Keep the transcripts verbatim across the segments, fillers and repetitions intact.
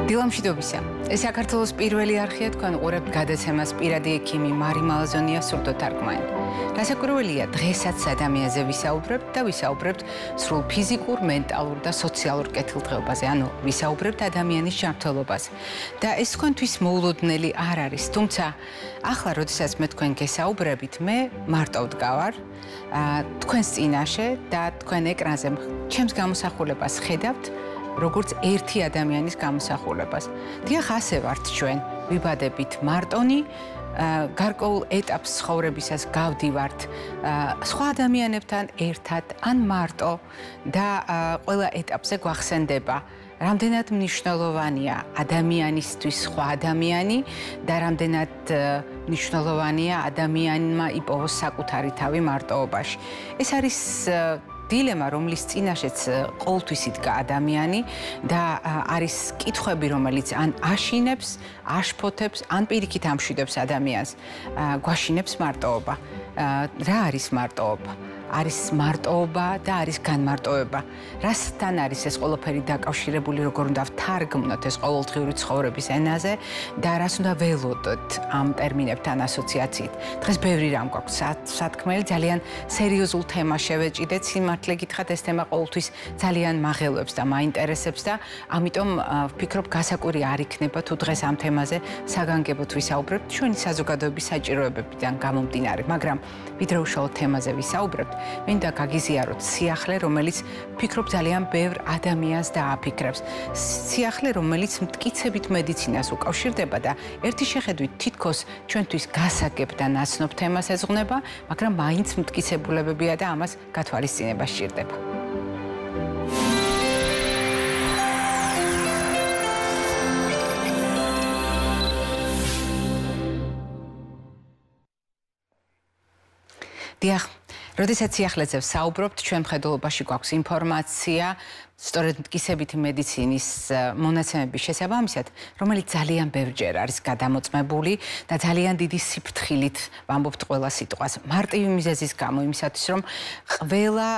დილამშვიდობისა. ეს საქართველოს პირველი არხია, თქვენ უყურებთ გადაცემას პირადი ექიმი მარი მალაზონია სურდოთარგმანი. რასაკვირველია, დღესაც ადამიანზე ვისაუბრებთ და ვისაუბრებთ სრულ ფიზიკურ, მენტალურ და სოციალურ კეთილდღეობაზე, ანუ ვისაუბრებთ ადამიანის ჯანმრთელობაზე. და ეს თქვენთვის მოულოდნელი არ არის, თუმცა ახლა, როდესაც მე თქვენ გესაუბრებით, მე მარტო ვდგავარ თქვენს წინაშე და თქვენ ეკრანზე ჩემს გამოსახულებას ხედავთ, როგორც ერთი ადამიანის გამოსახულებას. დიახ, ასე ვართ ჩვენ, ვიბადებით მარტონი, გარკვეულ ეტაპს ცხოვრებისას გავდივართ სხვა ადამიანებთან ერთად ან მარტო და ყველა ეტაპზე გვახსენდება რამდენად მნიშვნელოვანია ადამიანისთვის სხვა ადამიანი და რამდენად მნიშვნელოვანია ადამიანმა იპოვოს საკუთარი თავი მარტოობაში. ეს არის დილემა, რომლის წინაშეც ყოველთვის იდგა ადამიანი და არის კითხვები, რომელიც ან აშინებს, აშფოთებს, ან პირიქით ამშვიდებს ადამიანს. გვაშინებს მარტოობა. რა არის მარტოობა? არის მარტოობა და არის განმარტოება. რასთან არის ეს ყველაფერი დაკავშირებული, როგორ უნდა ვთარგმნოთ ეს ყოველდღიური ცხოვრების ენაზე და რას უნდა ველოდოთ ამ ტერმინებთან ასოციაციით. დღეს ბევრი რამ გვაქვს სათქმელი, ძალიან სერიოზულ თემას შევეჭიდეთ. სიმართლე გითხრათ, ეს თემა ყოველთვის ძალიან მაღელვებს და მაინტერესებს და ამიტომ ვფიქრობ, გასაკვირი არ იქნება თუ დღეს ამ თემაზე საგანგებოდ ვისაუბრებთ ჩვენი საზოგადოების საჭიროებებიდან გამომდინარე, მაგრამ ვიდრე უშუალოდ თემაზე ვისაუბრებთ, მინდა გაგიზიაროთ სიახლე, რომელიც ვფიქრობ ძალიან ბევრ ადამიანს დააფიქრებს. სიახლე, რომელიც მტკიცებით მედიცინას უკავშირდება და ერთი შეხედვით თითქოს ჩვენთვის გასაგებ და ნაცნობ თემას ეძღვნება, მაგრამ მაინც მტკიცებულებებია და ამას გათვალისწინება სჭირდება. დიახ, როდესაც სიახლეზე ვსაუბრობთ, ჩვენ მხედველობაში გვაქვს ინფორმაცია, სწორედ მტკიცებითი მედიცინის მონაცემების შესაბამისად, რომელიც ძალიან ბევრჯერ არის გადამოწმებული და ძალიან დიდი სიფრთხილით ვამბობთ ყველა სიტყვას. მარტივი მიზეზის გამო, იმისათვის, რომ ყველა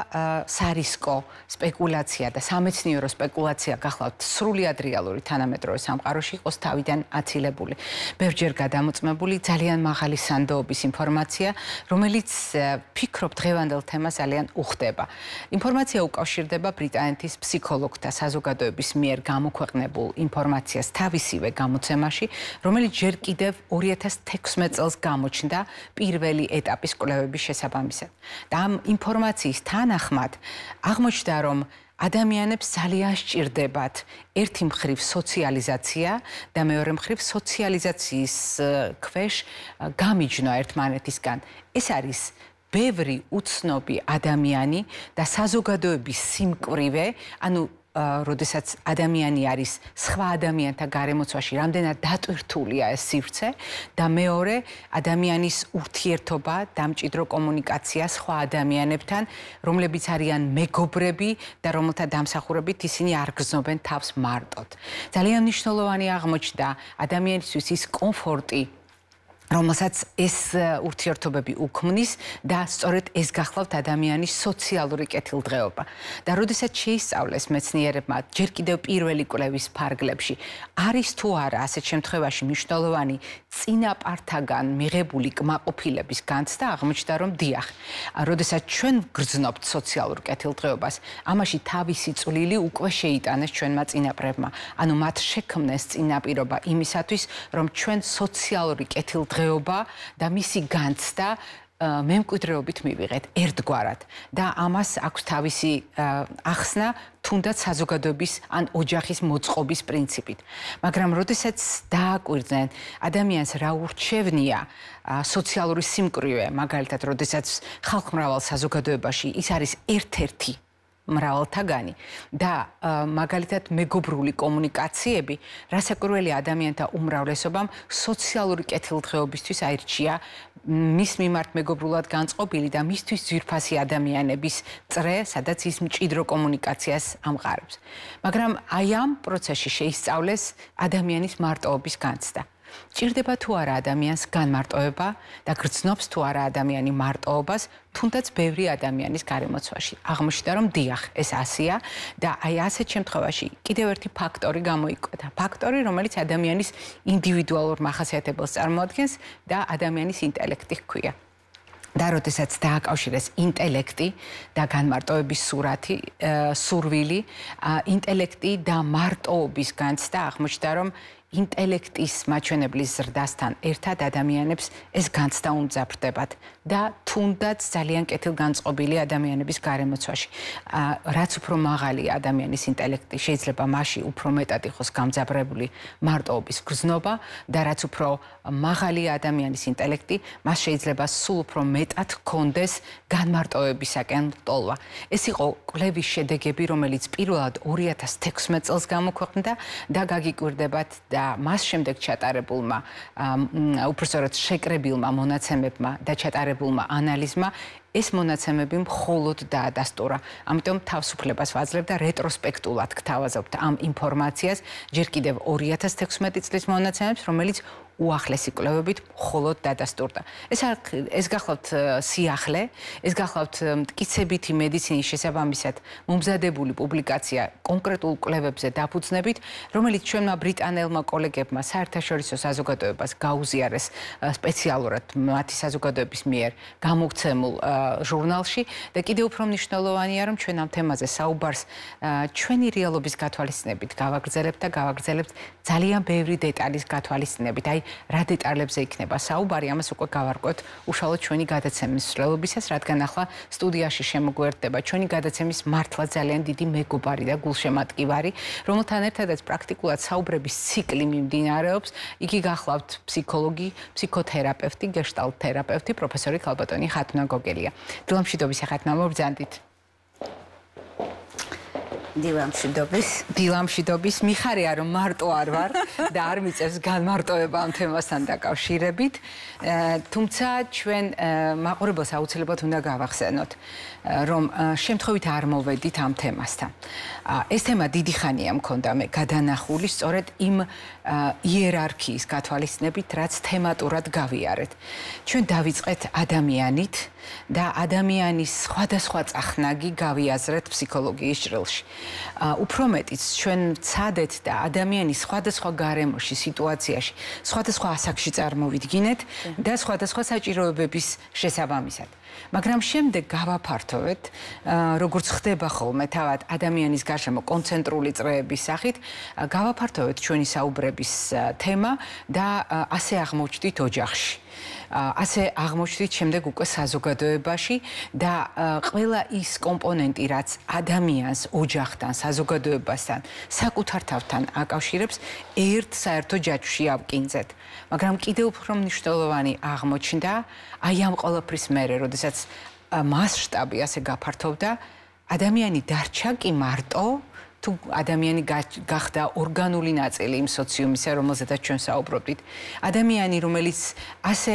სარისკო სპეკულაცია და სამეცნიერო სპეკულაცია გახლავთ სრულიად რეალური თანამედროვე სამყაროში იყოს თავიდან აცილებული. ბევრჯერ გადამოწმებული, ძალიან მაღალი სანდოობის ინფორმაცია, რომელიც ფიქრობ დღევანდელ თემას ძალიან უხდება. ინფორმაცია უკავშირდება ბრიტანეთის ფსიქოლოგთა საზოგადოების მიერ გამოქვეყნებულ ინფორმაციას თავისივე გამოცემაში, რომელიც ჯერ კიდევ ორი ათას თექვსმეტ წელს გამოჩნდა პირველი ეტაპის კვლევების შესაბამისად. და ამ ინფორმაციის თანახმად აღმოჩნდა, რომ ადამიანებს ძალიან სჭირდებათ ერთი მხრივ სოციალიზაცია და მეორე მხრივ სოციალიზაციის ქვეშ გამიჯნა ერთმანეთისგან. ეს არის ბევრი უცნობი ადამიანი და საზოგადოების სიმკვრივე, ანუ როდესაც ადამიანი არის სხვა ადამიანთა გარემოცვაში, რამდენად დატვირთულია ეს სივრცე და მეორე ადამიანის ურთიერთობა, დამჭიდრო კომუნიკაცია სხვა ადამიანებთან, რომლებიც არიან მეგობრები და რომელთა დამსახურებით ისინი არ გრძნობენ თავს მარტოდ. ძალიან მნიშვნელოვანი აღმოჩნდა ადამიანისთვის ის კომფორტი, რომელსაც ეს ურთიერთობები უქმნის და სწორედ ეს გახლავთ ადამიანის სოციალური კეთილდღეობა. და როდესაც შეისწავლეს მეცნიერებმა ჯერ კიდევ პირველი კვლევის ფარგლებში, არის თუ არა ასეთ შემთხვევაში მნიშვნელოვანი წინაპართაგან მიღებული კმაყოფილების განცდა, აღმოჩნდა, რომ დიახ, როდესაც ჩვენ გრძნობთ სოციალურ კეთილდღეობას, ამაში თავისი წვლილი უკვე შეიტანეს ჩვენმა წინაპრებმა. ანუ მათ შექმნეს წინაპირობა იმისათვის, რომ ჩვენ სოციალური კეთილდღეობა და მისი განცდა მემკვიდრეობით მივიღეთ ერთგვარად და ამას აქვს თავისი ახსნა თუნდაც საზოგადოების ან ოჯახის მოწყობის პრინციპით. მაგრამ როდესაც დააკვირდნენ ადამიანს რა ურჩევნია სოციალური სიმკვრივე, მაგალითად, როდესაც ხალხმრავალ საზოგადოებაში ის არის ერთ-ერთი მრავალთაგანი და მაგალითად მეგობრული კომუნიკაციები, რასაკვირველია ადამიანთა უმრავლესობამ სოციალური კეთილდღეობისთვის აირჩია მის მიმართ მეგობრულად განწყობილი და მისთვის ძვირფასი ადამიანების წრე, სადაც ის მჭიდრო კომუნიკაციას ამყარებს. მაგრამ აი ამ პროცესში შეისწავლეს ადამიანის მარტოობის განცდა. ჭირდება თუ არა ადამიანს განმარტოება და გრძნობს თუ არა ადამიანი მარტოობას, თუნდაც ბევრი ადამიანის გარემოცვაში. აღმოჩნდა რომ დიახ, ეს ასეა და აი ასეთ შემთხვევაში კიდევ ერთი ფაქტორი გამოიკვეთა. ფაქტორი, რომელიც ადამიანის ინდივიდუალურ მახასიათებელს წარმოადგენს და ადამიანის ინტელექტი ჰქვია. და როდესაც დააკავშირეს ინტელექტი და განმარტოების სურათი, სურვილი, ინტელექტი და მარტოობის განცდა აღმოჩნდა რომ ინტელექტის მაჩვენებლის ზრდასთან ერთად ადამიანებს ეს განცდა უმძაფრდებათ და თუნდაც ძალიან კეთილგანწყობილი ადამიანების გარემოცვაში. რაც უფრო მაღალია ადამიანის ინტელექტი, შეიძლება მასში უფრო მეტად იყოს გამძაფრებული მარტოობის გრძნობა და რაც უფრო მაღალია ადამიანის ინტელექტი, მას შეიძლება სულ უფრო მეტად ჰქონდეს განმარტოებისაკენ ტოლვა. ეს იყო კვლევის შედეგები, რომელიც პირველად ორი ათას თექვსმეტ წელს გამოქვეყნდა და გაგიკვირდებათ და მას შემდეგ ჩატარებულმა, უпростоრად შეკრებილმა მონაცემებმა და ჩატარებულმა ანალიზმა ეს მონაცემები მხოლოდ დაადასტურა. ამიტომ თავისუფლებას ვაძლევ და რეტროსპექტულად გთავაზობთ ამ ინფორმაციას ჯერ კიდევ ორი ათას თექვსმეტი წლის მონაცემებს, რომელიც უახლესი კვლევებით მხოლოდ დადასტურდა. ეს ეს გახლავთ სიახლე, ეს გახლავთ მტკიცებითი მედიცინის შესაბამისად მომზადებული პუბლიკაცია კონკრეტულ კვლევებზე დაფუძნებით, რომელიც ჩვენმა ბრიტანელმა კოლეგებმა საერთაშორისო საზოგადოებას გაუზიარეს სპეციალურად მათი საზოგადოების მიერ გამოგცემულ ჟურნალში და კიდევ უფრო მნიშვნელოვანია რომ ჩვენ ამ თემაზე საუბარს ჩვენი რეალობის გათვალისწინებით გავაგრძელებთ და გავაგრძელებთ ძალიან ბევრი დეტალის გათვალისწინებით. აი რა დეტალებზე იქნება საუბარი, ამას უკვე გავარკვევთ უშუალოდ ჩვენი გადაცემის მსვლელობისას, რადგან ახლა სტუდიაში შემოგვერდება ჩვენი გადაცემის მართლა ძალიან დიდი მეგობარი და გულშემატკივარი, რომელთან ერთადაც პრაქტიკულად საუბრების ციკლი მიმდინარეობს. იგი გახლავთ ფსიქოლოგი, ფსიქოთერაპევტი, გეშტალტ თერაპევტი, პროფესორი ქალბატონი ხათუნა გოგელია. დილამშვიდობის ხათუნა, მობრძანდით. დილამშვიდობის. დილამშვიდობის. მიხარია რომ მარტო არ ვარ და არ მიწევს განმარტოება ამ თემასთან დაკავშირებით. თუმცა ჩვენ მაყურებელს აუცილებლად უნდა გავახსენოთ, რომ შემთხვევით არ მოვედით ამ თემასთან. ეს თემა დიდი ხანია მქონდა მე გადანახული სწორედ იმ იერარქიის გათვალისწინებით, რაც თემატურად გავიარეთ. ჩვენ დავიწყეთ ადამიანით და ადამიანის სხვადასხვა წახნაგი გავიაზრეთ ფსიქოლოგიის ჭრილში. უფრო მეტიც ჩვენ ვცადეთ და ადამიანის სხვადასხვა გარემოში, სიტუაციაში, სხვადასხვა ასაკში წარმოვიდგინეთ და სხვადასხვა საჭიროებების შესაბამისად. მაგრამ შემდეგ გავაფართოვეთ, როგორც ხდება ხოლმე თავად ადამიანის გარშემო კონცენტრული წრეების სახით, გავაფართოვეთ ჩვენი საუბრების თემა და ასე აღმოჩნდით ოჯახში. ასე აღმოჩნდით შემდეგ უკვე საზოგადოებაში და ყველა ის კომპონენტი, რაც ადამიანს ოჯახთან, საზოგადოებასთან, საკუთარ თავთან აკავშირებს, ერთ საერთო ჯაჭვში ავკინძეთ. მაგრამ კიდევ უფრო მნიშვნელოვანი აღმოჩნდა აი ამ ყველაფრის მერე, როდესაც მასშტაბი ასე გაფართოვდა, ადამიანი დარჩა კი მარტო თუ ადამიანი გახდა ორგანული ნაწილი იმ სოციუმისა, რომელზედაც ჩვენ საუბრობდით. ადამიანი, რომელიც ასე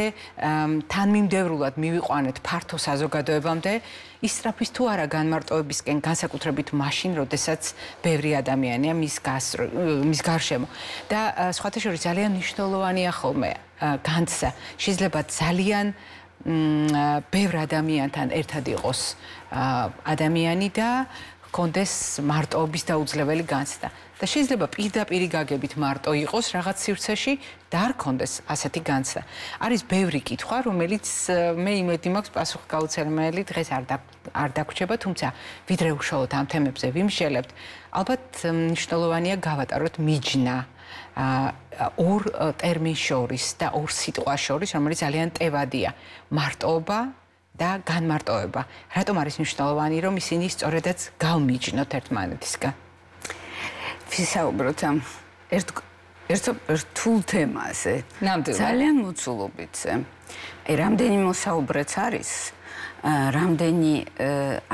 თანმიმდევრულად მივიყვანეთ ფართო საზოგადოებამდე, ისწრაფვის თუ არა განმარტოებისკენ, განსაკუთრებით მაშინ, როდესაც ბევრი ადამიანია მის მის გარშემო. და სხვათა შორის ძალიან მნიშვნელოვანია ხოლმე განცდა. შეიძლება ძალიან ბევრ ადამიანთან ერთად იყოს ადამიანი და კონდეს მარტოობის დაუძლეველი განცდა. და შეიძლება პირდაპირ გაგებით მარტო იყოს რაღაც სივრცეში და არ კონდეს ასეთი განცდა. არის ბევრი კითხვა, რომელიც მე იმედი მაქვს პასუხი გაუცემელი დღეს არ არ დაგვრჩება, თუმცა ვიდრე უშუალოდ ამ თემებზე ვიმსჯელებთ, ალბათ მნიშვნელოვანია გავატაროთ მიჯნა ორ ტერმინს შორის და ორ სიტყვას შორის, რომელიც ძალიან ტევადია. მარტოობა და განმარტოება. რატომ არის მნიშვნელოვანი, რომ ისინი სწორედაც გავმიჯნოთ ერთმანეთისგან? ვისაუბროთ ამ ერთ ერთ რთულ თემაზე. ძალიან მოცულობითზე. აი რამდენი მოსაუბრეც არის, რამდენი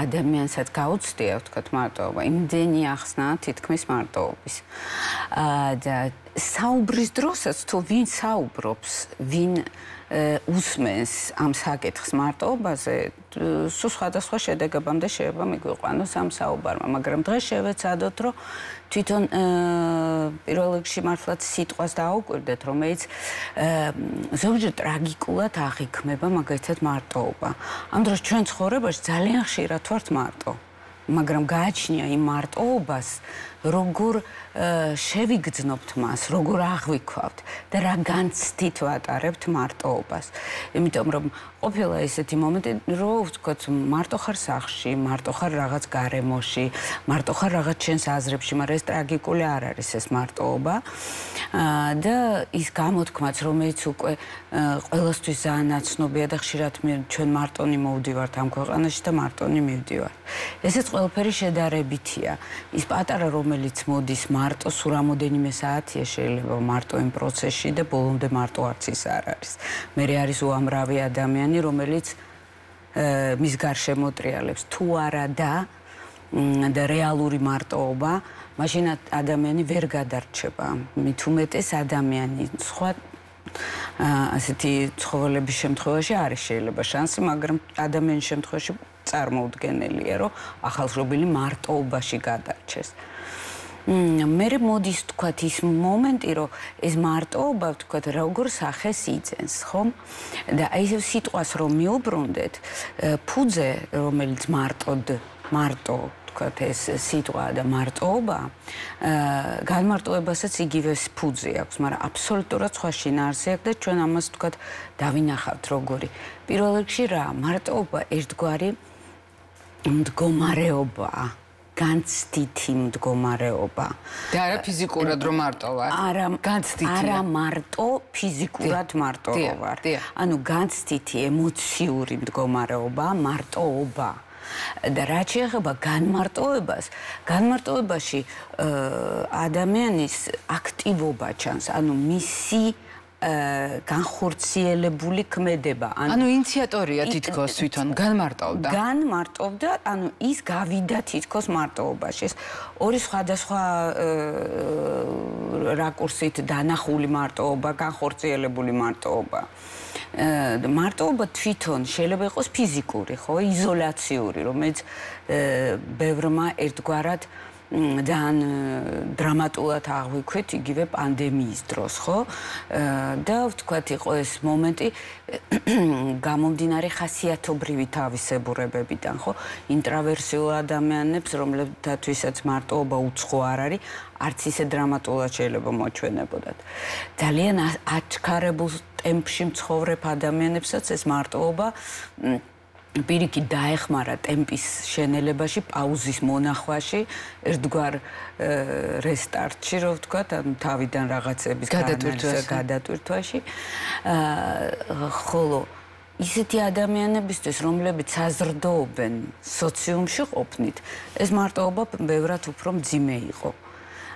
ადამიანსაც გაუცდია, ვთქვათ, მარტოობა, იმდენი ახსნა თითქმის მარტოობის. და საუბრის დროსაც თუ ვინ საუბრობს, ვინ უსმენს ამ საკითხს მარტოობაზე, სულ სხვადასხვა შედეგებამდე შეიძლება მიგვიყვანოს ამ საუბარმა, მაგრამ დღეს შევეცადოთ, რომ თვითონ პირველ რიგში მართლაც სიტყვას დააუკვირდეთ, რომელიც ზოგჯერ ტრაგიკულად აღიქმება მაგალითად მარტოობა. ამ დროს ჩვენ ცხოვრებაში ძალიან ხშირად ვართ მარტო, მაგრამ გააჩნია იმ მარტოობას, როგორ შევიგრძნობთ მას, როგორ აღვიქვავთ და რა განცდით ვატარებთ მარტოობას. იმიტომ რომ ყოფილა ესეთი მომენტი, რომ ვთქვათ, მარტო ხარ სახლში, მარტო ხარ რაღაც გარემოში, მარტო ხარ რაღაც ჩვენს აზრებში, მაგრამ ეს ტრაგიკული არ არის ეს მარტოობა. და ის გამოთქმაც, რომელიც უკვე ყველასთვის ძალიან ნაცნობია და ხშირად ჩვენ მარტონი მოვდივართ ამ ქვეყანაში და მარტონი მივდივართ. ესეც ყველაფერი შედარებითია. ის პატარა რომელიც მოდის მარტო სულ რამოდენიმე საათია შეიძლება მარტო იმ პროცესში და ბოლომდე მარტო არც ის არ არის. მე არის უამრავი ადამიანი, რომელიც მის გარშემო ტრიალებს თუ არა და და რეალური მარტოობა, მაშინ ადამიანი ვერ გადარჩება. მით უმეტეს ადამიანი სხვა ასეთი ცხოველების შემთხვევაში არის შეიძლება შანსი, მაგრამ ადამიანის შემთხვევაში წარმოუდგენელია, რომ ახალშობილი მარტოობაში გადარჩეს. მე მოდის თქვათ ის მომენტი, რომ ეს მარტოობა თქვათ როგორ სახეს იძენს, ხო? და აი ეს სიტყვას რომ მიუბრუნდეთ, ფუძე, რომელიც მარტოდ, მარტო თქვათ ეს სიტყვა და მარტოობა, განმარტოებასაც იგივე ფუძე აქვს, მაგრამ აბსოლუტურად სხვა შინაარსი აქვს და ჩვენ ამას თქვათ დავინახავთ როგორი. პირველ რიგში რა, მარტოობა ერთგვარი მდგომარეობაა. განცდითი მდგომარეობა. და არა ფიზიკურად რომ მარტო ვარ. არა, განცდითი. არა მარტო ფიზიკურად მარტო ვარ. ანუ განცდითი ემოციური მდგომარეობა, მარტოობა. და რაც შეეხება განმარტოებას, განმარტოებაში ადამიანის აქტივობა ჩანს, ანუ მისი განხორციელებული ქმედება. ანუ ინიციატორია თითქოს თვითონ განმარტოვდა. განმარტოვდა, ანუ ის გავიდა თითქოს მარტოობაში. ეს ორი სხვადასხვა რაკურსით დანახული მარტოობა, განხორციელებული მარტოობა. მარტოობა თვითონ შეიძლება იყოს ფიზიკური, ხო, იზოლაციური, რომელიც ბევრმა ერთგვარად ძალიან დრამატულად აღვიქვით იგივე პანდემიის დროს, ხო? და ვთქვათ, იყო ეს მომენტი გამომდინარე ხასიათობრივი თავისებურებებიდან, ხო? ინტრავერსიულ ადამიანებს, რომლებთათვისაც მარტოობა უცხო არ არის, არც ისე დრამატულად შეიძლება მოჩვენებოდათ. ძალიან აჩქარებულ ტემპში მცხოვრებ ადამიანებსაც ეს მარტოობა პირიქით დაეხმარა ტემპის შენელებაში, პაუზის მონახვაში, ერთგვარ რესტარტში, რო ვთქვათ, ანუ თავიდან რაღაცების გადატვირთვაში. ხოლო ისეთი ადამიანებისთვის, რომლებიც საზრდოობენ სოციუმში ყოფნით, ეს მარტოობა ბევრად უფრო მძიმე იყო.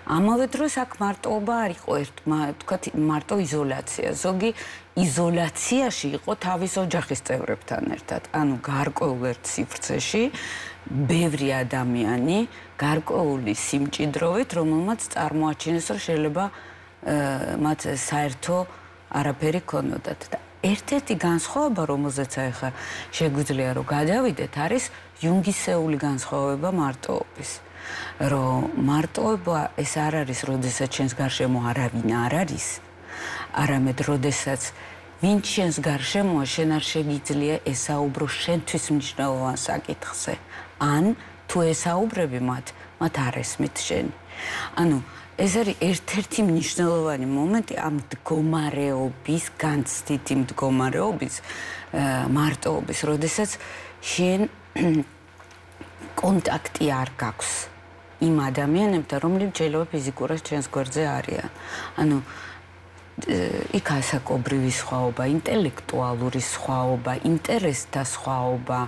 ამავე დროს აქ მარტოობა არ იყო ერთ, ვთქვათ, მარტო იზოლაცია. ზოგი იზოლაციაში იყო თავის ოჯახის წევრებთან ერთად. ანუ გარკვეულ ერთ სივრცეში ბევრი ადამიანი გარკვეული სიმჭიდროვით, რომელმაც წარმოაჩინეს, რომ შეიძლება მათ საერთო არაფერი ქონოდათ. და ერთ-ერთი განსხვავება, რომელზეც ახლა შეგვიძლია რომ გადავიდეთ, არის იუნგისეული განსხვავება მარტოობის. რომ მარტოობა ეს არ არის, როდესაც ჩვენს გარშემო არავინ არ არის, არამედ როდესაც ვინც ჩვენს გარშემოა, შენ არ შეგიძლია ესაუბრო შენთვის მნიშვნელოვან საკითხზე. ან თუ ესაუბრები მათ, მათ არ ესმით შენი. ანუ ეს არის ერთ-ერთი მნიშვნელოვანი მომენტი ამ მდგომარეობის, განცდითი მდგომარეობის, მარტოობის, როდესაც შენ კონტაქტი არ გაქვს იმ ადამიანებთან, რომლებიც შეიძლება ფიზიკურად ჩვენს გვერდზე არიან. ანუ იქ ასაკობრივი სხვაობა, ინტელექტუალური სხვაობა, ინტერესთა სხვაობა,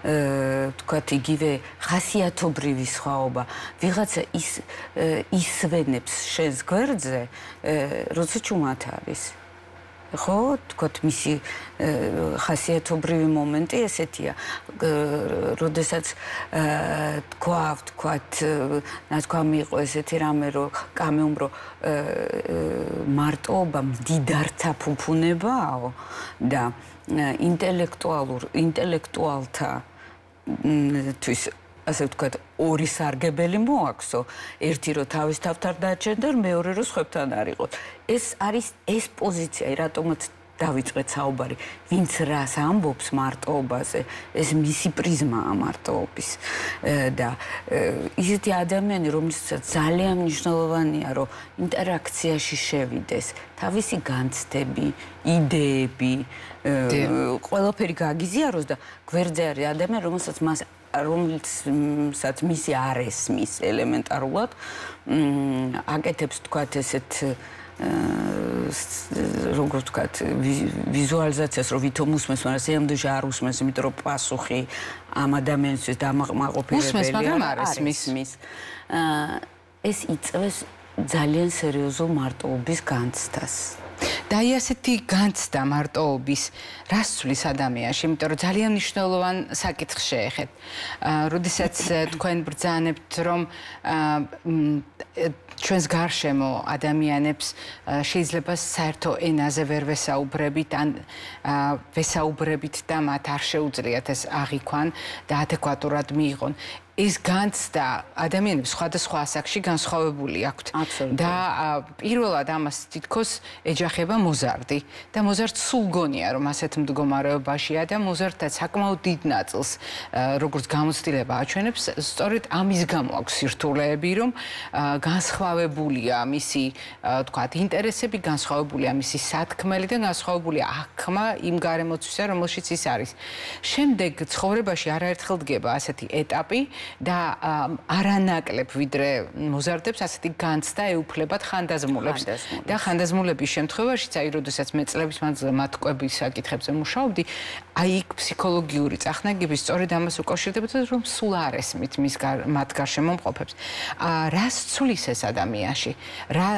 ვთქვათ, იგივე ხასიათობრივი სხვაობა. ვიღაცა ის ისვენებს შენს გვერდზე, როცა ჩუმად არის. ხო, თქვათ მისი ხასიათობრივი მომენტი ესეთია. როდესაც თქვა, თქვათ, ნათქვამი იყო ესეთი რამე, რომ კამეუმ რომ მარტოობა მდიდართა ფუფუნებაო და ინტელექტუალურ ინტელექტუალთა თვის ასე ვთქვათ, ორი სარგებელი მოაქვსო, ერთი რომ თავის თავთან დააჩენდა, მეორე რომ სხვებთან არ იყოს. ეს არის ეს პოზიცია, რატომაც დავიწყეთ საუბარი, ვინც რას ამბობს მარტოობაზე, ეს მისი პრიზმაა მარტოობის. და ისეთი ადამიანი, რომელსაც ძალიან მნიშვნელოვანია, რომ ინტერაქციაში შევიდეს, თავისი განცდები, იდეები, ყველაფერი გაგიზიაროს და გვერდზე არის ადამიანი, რომელსაც მას რომელსაც მისი არ ესმის ელემენტარულად აკეთებს თქვათ ესეთ როგორ ვთქვათ ვიზუალიზაციას რომ ვითომ усმენს, მაგრამ სიამდვილეში არ усმენს, იმიტომ რომ პასუხი ამ ადამიანისთვის დამაყმაყოფილებელია, არ ესმის. ეს იწვევს ძალიან სერიოზულ მარტოობის განცდას. და აი ასეთი განცდა მარტოობის რას ცვლის ადამიანში, იმიტომ რომ ძალიან მნიშვნელოვან საკითხს შეეხეთ. როდესაც თქვენ ბრძანებთ, რომ ჩვენს გარშემო ადამიანებს შეიძლება საერთო ენაზე ვერ ვესაუბრებით, ან ვესაუბრებით და მათ არ შეუძლიათ ეს აღიქვან და ადეკვატურად მიიღონ. ეს განცდა ადამიანებს სხვადასხვა ასაკში განსხვავებული აქვთ. და პირველად ამას თითქოს ეჯახება მოზარდი. და მოზარდს სულ გონია, რომ ასეთ მდგომარეობაშია და მოზარდთან საკმაოდ დიდ ნაწილს, როგორც გამოცდილება აჩვენებს, სწორედ ამის გამო აქვს სირთულეები, რომ განსხვავებულია მისი, თქვათ, ინტერესები, განსხვავებულია მისი სათქმელი და განსხვავებულია აღქმა იმ გარემოცვისა, რომელშიც ის არის. შემდეგ ცხოვრებაში არაერთხელ დგება ასეთი ეტაპი, და არანაკლებ ვიდრე მოზარდებს ასეთი განცდა ეუფლებათ ხანდაზმულებს და ხანდაზმულების შემთხვევაშიც აი როდესაც მე წლების მანძილზე მათ კვების საკითხებზე მუშაობდი, აი იქ ფსიქოლოგიური წახნაგები სწორედ ამას უკავშირდებოდა, რომ სულ არ ესმით მის მათ გარშემო მყოფებს. რას ცვლის ეს ადამიანში? რა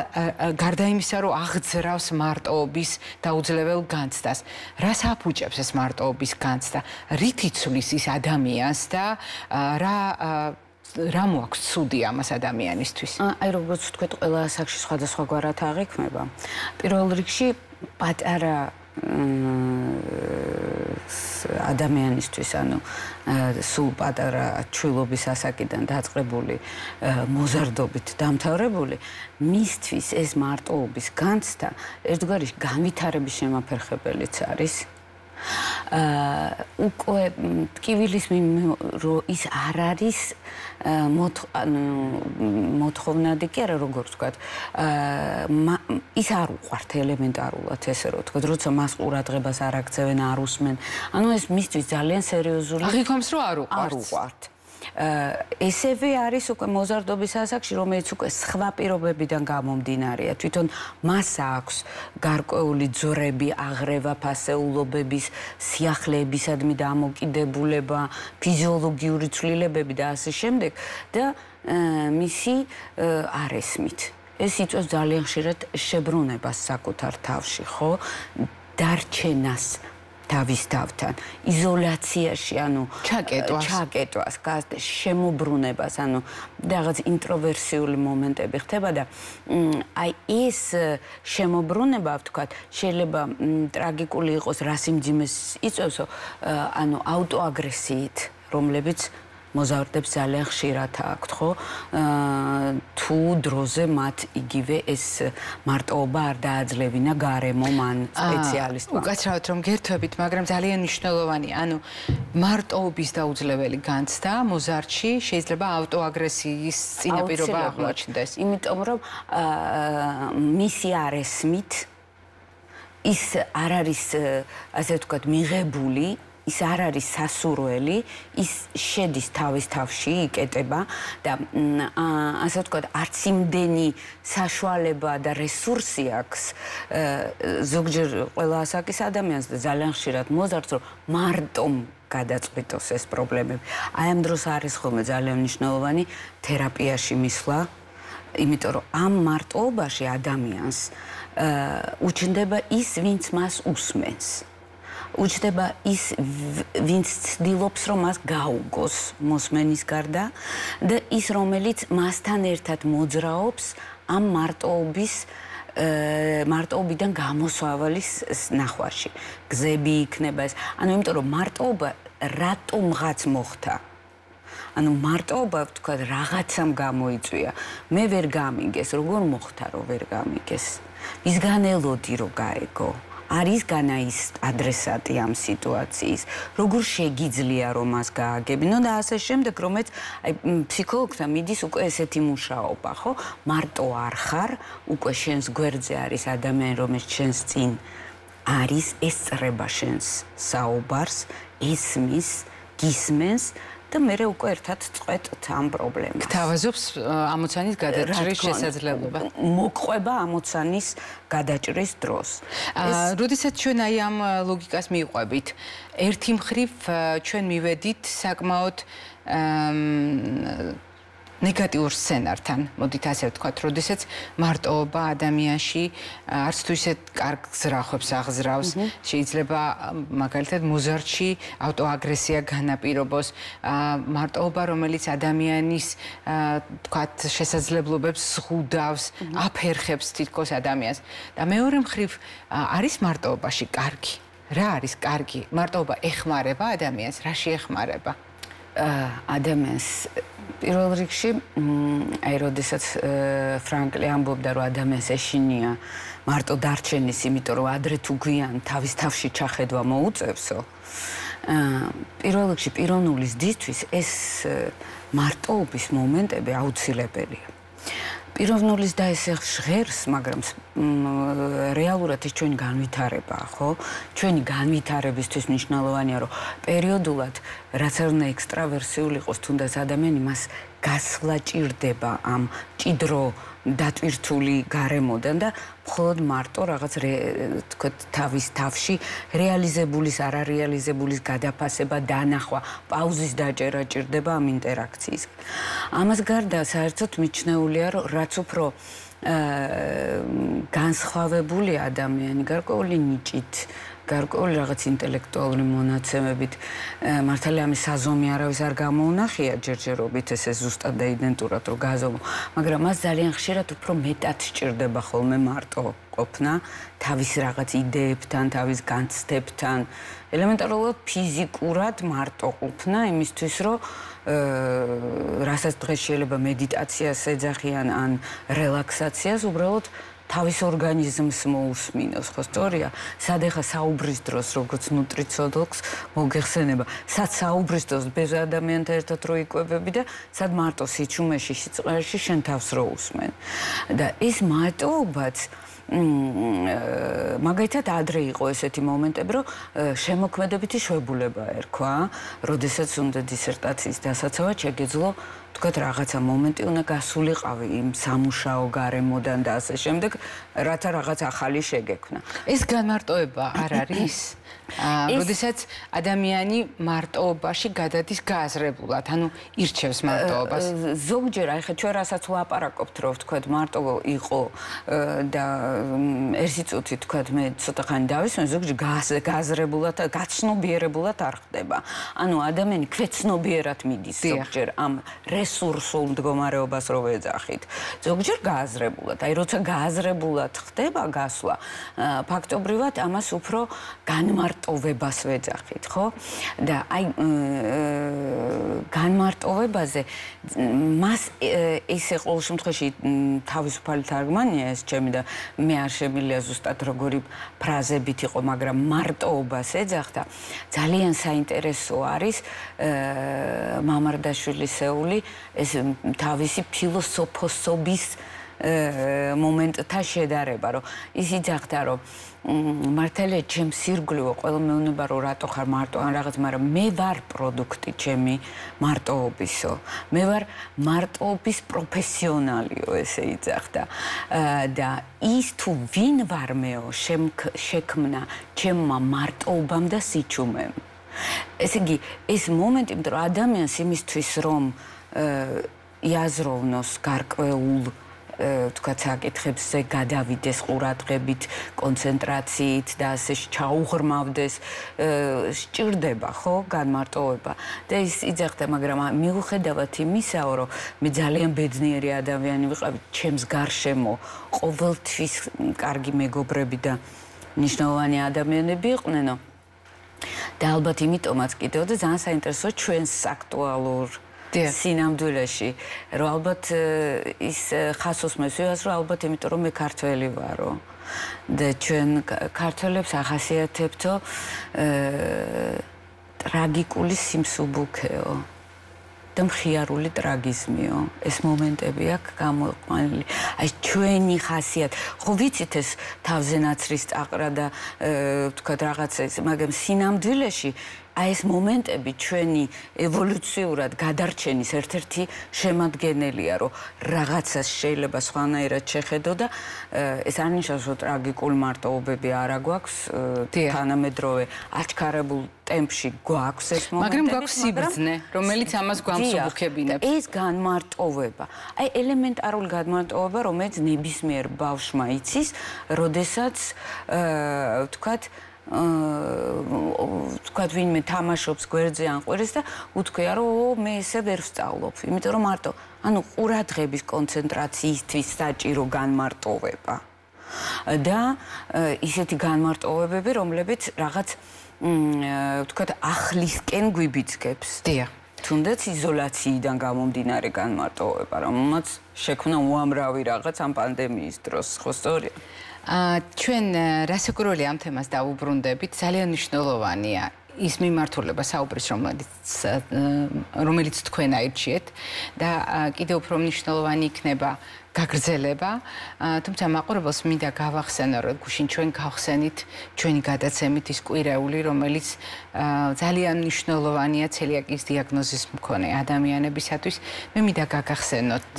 გარდა იმისა, რომ აღძრავს მარტოობის დაუძლებელ განცდას, რას აფუჭებს ეს მარტოობის განცდა? რითი ცვლის ის ადამიანს და რა რა მოაქვს ცუდი ამას ადამიანისთვის? აი როგორც ვთქვით, ყველა ასაკში სხვადასხვაგვარად აღიქმება. პირველ რიგში პატარა ადამიანისთვის, ანუ სულ პატარა ჩვილობის ასაკიდან დაწყებული მოზარდობით დამთავრებული, მისთვის ეს მარტოობის განცდა ერთგვარი განვითარების შემაფერხებელიც არის. უკვე ტკივილის რომ ის არ არის მოთხოვნადი კი არა, როგორ ვთქვათ, ის არ უყვართ ელემენტარულად, ესე რომ ვთქვათ, როცა მას ყურადღებას არ აქცევენ, არ უსმენ. ანუ ეს მისთვის ძალიან სერიოზული. აღიქვამს, რომ არ არ უყვართ. ესევე არის უკვე მოზარდობის ასაკში, რომელიც უკვე სხვა პირობებიდან გამომდინარეა. თვითონ მას აქვს გარკვეული ძვრები, აღრევა, ფასეულობების, სიახლეებისადმი დამოკიდებულება, ფიზიოლოგიური ცვლილებები და ასე შემდეგ და მისი არ ესმით. ეს იწვევს ძალიან ხშირად შებრუნებას საკუთარ თავში, ხო? დარჩენას თავის თავთან, იზოლაციაში, ანუ ჩაკეტვას, ჩაკეტვას, შემოbrunებას, ანუ რაღაც ინტროვერსიული მომენტები ხდება და აი ეს შემოbrunება, ვთქვათ, შეიძლება ტრაგიკული იყოს, რა სიმძიმეს იწვევსო, ანუ აუტოაგრესიით, რომლებიც მოზარდებს ძალიან ხშირად აქვთ, ხო? თუ დროზე მათ იგივე ეს მარტოობა არ დააძლევინა გარემო მან სპეციალისტმა. უკაცრავად რომ გერთვებით, მაგრამ ძალიან მნიშვნელოვანი, ანუ მარტოობის დაუძლეველი განცდა მოზარდში შეიძლება აუტოაგრესიის წინაპირობა აღმოჩნდეს. იმიტომ რომ მისი არ ესმით, ის არ არის, ასე ვთქვათ, მიღებული, ის არ არის სასურველი, ის შედის თავის თავში, იკეტება და ასე ვთქვათ, არც იმდენი საშუალება და რესურსი აქვს ზოგჯერ ყველა ასაკის ადამიანს და ძალიან ხშირად მოზარდს, რომ მარტომ გადაწყვიტოს ეს პრობლემები. აი ამ დროს არის ხოლმე ძალიან მნიშვნელოვანი თერაპიაში მისვლა, იმიტომ რომ ამ მარტოობაში ადამიანს უჩნდება ის, ვინც მას უსმენს. უჩნდება ის, ვინც ცდილობს, რომ მას გაუგოს მოსმენის გარდა და ის, რომელიც მასთან ერთად მოძრაობს ამ მარტოობის მარტოობიდან გამოსავლის ნახვაში. გზები იქნება ეს. ანუ იმიტომ რომ მარტოობა რატომღაც მოხდა. ანუ მარტოობა თქვა რაღაცამ გამოიწვია. მე ვერ გამიგეს, როგორ მოხდა, რომ ვერ გამიგეს. მისგან ელოდი რომ გაეგო. არის განა ის ადრესატი ამ სიტუაციის, როგორ შეგიძლია რომ მას გააგებინო და ასე შემდეგ, რომელიც აი ფსიქოლოგთან მიდის უკვე ესეთი მუშაობა, ხო? მარტო არ ხარ, უკვე შენს გვერდზე არის ადამიანი, რომელიც შენს წინ არის, ესწრება შენს საუბარს, ესმის, გისმენს და მე უკვე ერთად წყვეტთ ამ პრობლემას. გთავაზობს ამოცანის გადაჭრის შესაძლებლობა. მოყვება ამოცანის გადაჭრის დროს. როდესაც ჩვენ აი ამ ლოგიკას მივყვებით, ერთი მხრივ ჩვენ მივედით საკმაოდ ნეგატიურ სცენართან, მოდით ასე ვთქვათ, როდესაც მარტოობა ადამიანში არც თუ ისე კარგ ზრახვებს აღზრავს, შეიძლება მაგალითად მოზარდში ავტოაგრესია განაპირობოს, მარტოობა, რომელიც ადამიანის ვთქვათ, შესაძლებლობებს ზღუდავს, აფერხებს თითქოს ადამიანს. და მეორე მხრივ არის მარტოობაში კარგი. რა არის კარგი? მარტოობა ეხმარება ადამიანს, რაში ეხმარება? ადამიანს პირველ რიგში აი როდესაც ფრანკლი ამბობდა რომ ადამიანს ეშინია მარტო დარჩენის, იმიტომ რომ ადრე თუ გვიან თავის თავში ჩახედვა მოუწევსო. პირველ რიგში პიროვნული ზრდისთვის ეს მარტოობის მომენტები აუცილებელია. პიროვნულის და ეს ჟღერს, მაგრამ რეალურად ეს ჩვენი განვითარებაა, ხო? ჩვენი განვითარებისთვის მნიშვნელოვანია, რომ პერიოდულად რაც არ უნდა ექსტრავერსიული იყოს, თუნდაც ადამიანი მას გასვლა ჭირდება ამ ჭიდრო დატვირთული გარემოდან და მხოლოდ მარტო რაღაც თქო თავის თავში რეალიზებულის, არარეალიზებულის გადაფასება, დანახვა, პაუზის დაჭერა ჭირდება ამ ინტერაქციის. ამას გარდა საერთოდ მიჩნეულია, რომ რაც უფრო განსხვავებული ადამიანი, გარკვეული ნიჭით, გარკვეული რაღაც ინტელექტუალური მონაცემებით, მართალია ამის საზომი არავის არ გამოუნახია ჯერჯერობით, ესე ზუსტად და იდენტურად რომ გაზომო, მაგრამ მას ძალიან ხშირად უფრო მეტად სჭირდება ხოლმე მარტო ყოფნა, თავის რაღაც იდეებთან, თავის განცდებთან, ელემენტარულად ფიზიკურად მარტო ყოფნა იმისთვის, რომ რასაც დღეს შეიძლება მედიტაციას ეძახიან ან რელაქსაციას, უბრალოდ თავის ორგანიზმს მოусმინოს, ხო სწორია? სად ახლა საუბრის დროს, როგორც ნუტრიციოლოგს მოგეხსენება, სად საუბრის დროს ბევრ ადამიანთან ერთად რო იკვებები და სად მარტო სიჩუმეში, სიწყარში შენ თავს რო უსმენ. და ეს მარტოობაც მაგალითად ადრე იყო ესეთი მომენტები, რომ შემოქმედებითი შვებულება ერქვა, როდესაც უნდა დისერტაციის დასაცავად შეგეძლო თქვათ რაღაცა მომენტი უნდა გასულიყავი იმ სამუშაო გარემოდან და ასე შემდეგ, რათა რაღაც ახალი შეგექმნა. ეს განმარტოება არ არის? როდესაც ადამიანი მარტოობაში გადადის გააზრებულად, ანუ ირჩევს მარტოობას. ზოგჯერ, აი ხა ჩვენ რასაც ვლაპარაკობთ, რომ თქვათ მარტო იყო და ერთი წუთი თქვათ მე ცოტა ხანი დავისვენ, ზოგჯერ გააზრებულად, გაცნობიერებულად არ ხდება. ანუ ადამიანი ქვეცნობიერად მიდის ზოგჯერ ამ რესურსულ მდგომარეობას რო ვეძახით. ზოგჯერ გააზრებულად, აი როცა გააზრებულად ხდება გასვლა, ფაქტობრივად ამას უფრო განმარტოვებას ვეძახით, ხო? და აი განმარტოვებაზე მას ესე ყოველ შემთხვევაში თავისუფალი თარგმანია ეს ჩემი და მე არ შემიძლია ზუსტად როგორი ფრაზებით იყო, მაგრამ მარტოობას ეძახდა. ძალიან საინტერესო არის მამარდაშვილისეული ეს თავისი ფილოსოფოსობის მომენტთა შედარება, რომ ის იძახდა, რომ მართალია ჩემს ირგვლივ ყველა მეუბნება რომ რატო ხარ მარტო ან რაღაც, მაგრამ მე ვარ პროდუქტი ჩემი მარტოობისო. მე ვარ მარტოობის პროფესიონალიო, ესე იძახდა. და ის თუ ვინ ვარ მეო შექმნა ჩემმა მარტოობამ და სიჩუმემ. ესე იგი, ეს მომენტი, რომ ადამიანს იმისთვის რომ იაზროვნოს გარკვეულ თქვათ საკითხებზე გადავიდეს ყურადღებით, კონცენტრაციით და ასე ჩაუღრმავდეს, სჭირდება ხო განმარტოვება. და ის იძახდა, მაგრამ მიუხედავად იმისაო, რომ მე ძალიან ბედნიერი ადამიანი ვიყავი, ჩემს გარშემო ყოველთვის კარგი მეგობრები და ნიშნავანი ადამიანები იყვნენო. და ალბათ იმიტომაც კიდევ და ძალიან საინტერესოა ჩვენს აქტუალურ სინამდვილეში, რომ ალბათ ის ხასოს მესვიას, რომ ალბათ იმიტომ რომ მე ქართველი ვარო. და ჩვენ ქართველებს ახასიათებთო ტრაგიკული სიმსუბუქეო და მხიარული ტრაგიზმიო. ეს მომენტები აქვს გამოყვანილი. აი ჩვენი ხასიათი. ხო ვიცით ეს თავზე ნაცრის წაყრა და ვთქვათ რაღაცა ეს, მაგრამ სინამდვილეში აი ეს მომენტები ჩვენი ევოლუციურად გადარჩენის ერთ-ერთი შემადგენელია, რომ რაღაცას შეიძლება სხვანაირად შეხედო და ეს არ ნიშნავს, რომ ტრაგიკული მარტოობები არ აგვაქვს თანამედროვე აჩქარებულ ტემპში გვაქვს ეს მომენტები, მაგრამ გვაქვს სიბრძნე, რომელიც ამას გვამსუბუქებინებს. ეს განმარტოვება, აი ელემენტარული განმარტოვება, რომელიც ნებისმიერ ბავშვმა იცის, როდესაც ვთქვათ ვთქვათ ვინმე თამაშობს გვერდზე ან ყვირს და უთქვია რომ მე ესე ვერ ვსწავლობ, იმიტომ რომ მარტო ანუ ყურადღების კონცენტრაციისთვის საჭირო განმარტოვება და ისეთი განმარტოვებები, რომლებიც რაღაც ვთქვათ ახლისკენ გვიბიძგებს. დიახ. თუნდაც იზოლაციიდან გამომდინარე განმარტოვება, რომელმაც შექმნა უამრავი რაღაც ამ პანდემიის დროს, ხო სწორია? ჩვენ რასაკურველი ამ თემას დავუბრუნდებით, ძალიან მნიშვნელოვანია ის მიმართულება საუბრის, რომელიც რომელიც თქვენ აირჩიეთ და კიდევ უფრო მნიშვნელოვანი იქნება გაგრძელება, თუმცა მაყურებელს მინდა გავახსენო, რომ გუშინ ჩვენ გავხსენით ჩვენი გადაცემით ის კვირეული, რომელიც ძალიან მნიშვნელოვანია ცელიაკიის დიაგნოზის მქონე ადამიანებისათვის. მე მინდა გაგახსენოთ,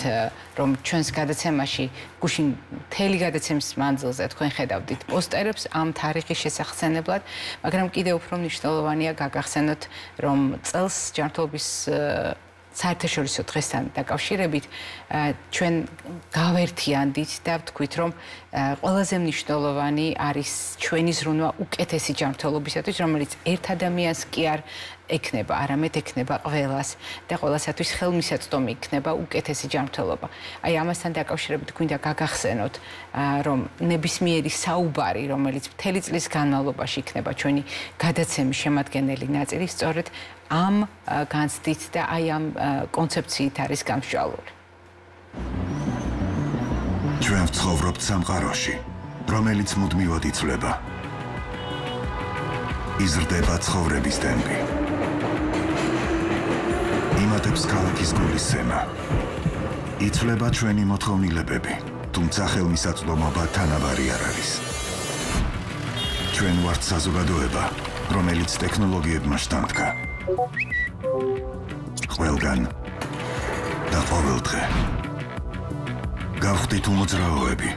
რომ ჩვენს გადაცემაში გუშინ მთელი გადაცემის მანძილზე თქვენ ხედავდით პოსტერებს ამ თარიღის შესახსენებლად, მაგრამ კიდევ უფრო მნიშვნელოვანია გაგახსენოთ, რომ წელს ჯანმრთელობის საერთაშორისო დღესთან დაკავშირებით ჩვენ გავერთიანდით და ვთქვით, რომ ყველაზე მნიშვნელოვანი არის ჩვენი ზრუნვა უკეთესი ჯანმრთელობისათვის, რომელიც ერთ ადამიანს კი არ ექნება, არამედ ექნება ყველას და ყველასათვის ხელმისაწვდომი იქნება უკეთესი ჯანმრთელობა. აი ამასთან დაკავშირებით გვინდა გაგახსენოთ, რომ ნებისმიერი საუბარი, რომელიც მთელი წლის განმავლობაში იქნება ჩვენი გადაცემის შემადგენელი ნაწილი, სწორედ ამ განცდით და აი ამ კონცეფციით არის გამსჭვალული. ჩვენ ვცხოვრობთ სამყაროში, რომელიც მუდმივად იცვლება. იზრდება ცხოვრების ტემპი. იმატებს ქალაქის გულისცემა. იცვლება ჩვენი მოთხოვნილებები, თუმცა ხელმისაწვდომობა თანაბარი არ არის. ჩვენ ვართ საზოგადოება, რომელიც ტექნოლოგიებმა შთამდგა. ყველგან და ყოველდღე. გავხდით უმოძრაოები.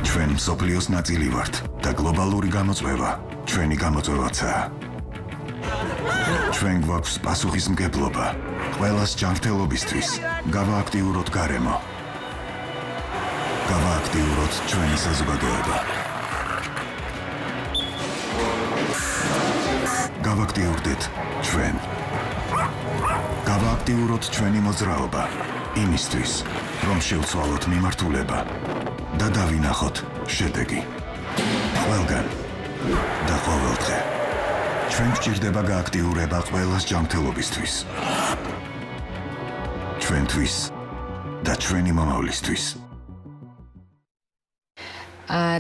ჩვენ მსოფლიოს ნაწილი ვართ და გლობალური გამოწვევა ჩვენი გამოწვევაცაა. ჩვენ გვაქვს პასუხისმგებლობა ყველას ჯანმრთელობისთვის. გავააქტიუროთ გარემო. გავააქტიუროთ ჩვენი საზოგადოება. გავააქტიურდეთ ჩვენ. გავააქტიუროთ ჩვენი მოძრაობა იმისთვის, რომ შევცვალოთ მიმართულება და დავინახოთ შედეგი. ყველგან და ყოველდღე. ჩვენ გვჭირდება გააქტიურება ყველას ჯანმრთელობისთვის. ჩვენთვის და ჩვენი მომავლისთვის.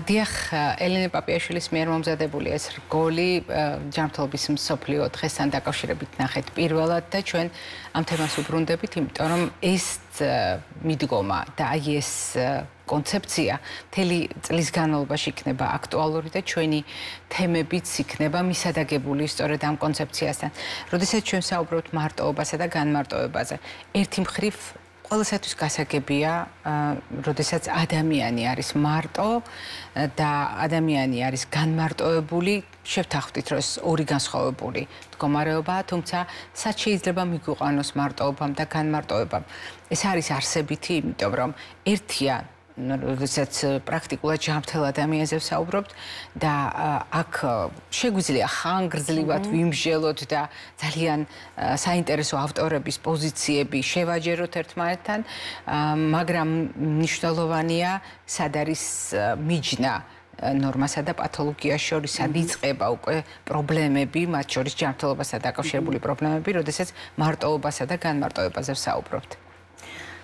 დიახ, ელენე პაპიაშვილის მიერ მომზადებული ეს რგოლი ჯანმრთელობის მსოფლიო დღესთან დაკავშირებით ნახეთ პირველად და ჩვენ ამ თემას უბრუნდებით, იმიტომ რომ ეს მიდგომა და აი ეს კონცეფცია მთელი წლის განმავლობაში იქნება აქტუალური და ჩვენი თემებიც იქნება მისადაგებული სწორედ ამ კონცეფციასთან. როდესაც ჩვენ საუბრობთ მარტოობასა და განმარტოებაზე, ერთი მხრივ ყველასათვის გასაგებია, როდესაც ადამიანი არის მარტო და ადამიანი არის განმარტოებული, შევთანხმდით, რომ ეს ორი განსხვავებული მდგომარეობაა, თუმცა სად შეიძლება მიგვიყვანოს მარტოობამ და განმარტოებამ. ეს არის არსებითი, იმიტომ რომ ერთია როდესაც პრაქტიკულად ჯანმრთელ ადამიანზე ვსაუბრობთ და აქ შეგვიძლია ხანგრძლივად ვიმსჯელოთ და ძალიან საინტერესო ავტორების პოზიციები შევაჯეროთ ერთმანეთთან, მაგრამ მნიშვნელოვანია, სად არის მიჯნა ნორმასა და პათოლოგიას შორის, სად იწყება უკვე პრობლემები, მათ შორის ჯანმრთელობასთან დაკავშირებული პრობლემები, როდესაც მარტოობასა და განმარტოებაზე ვსაუბრობთ.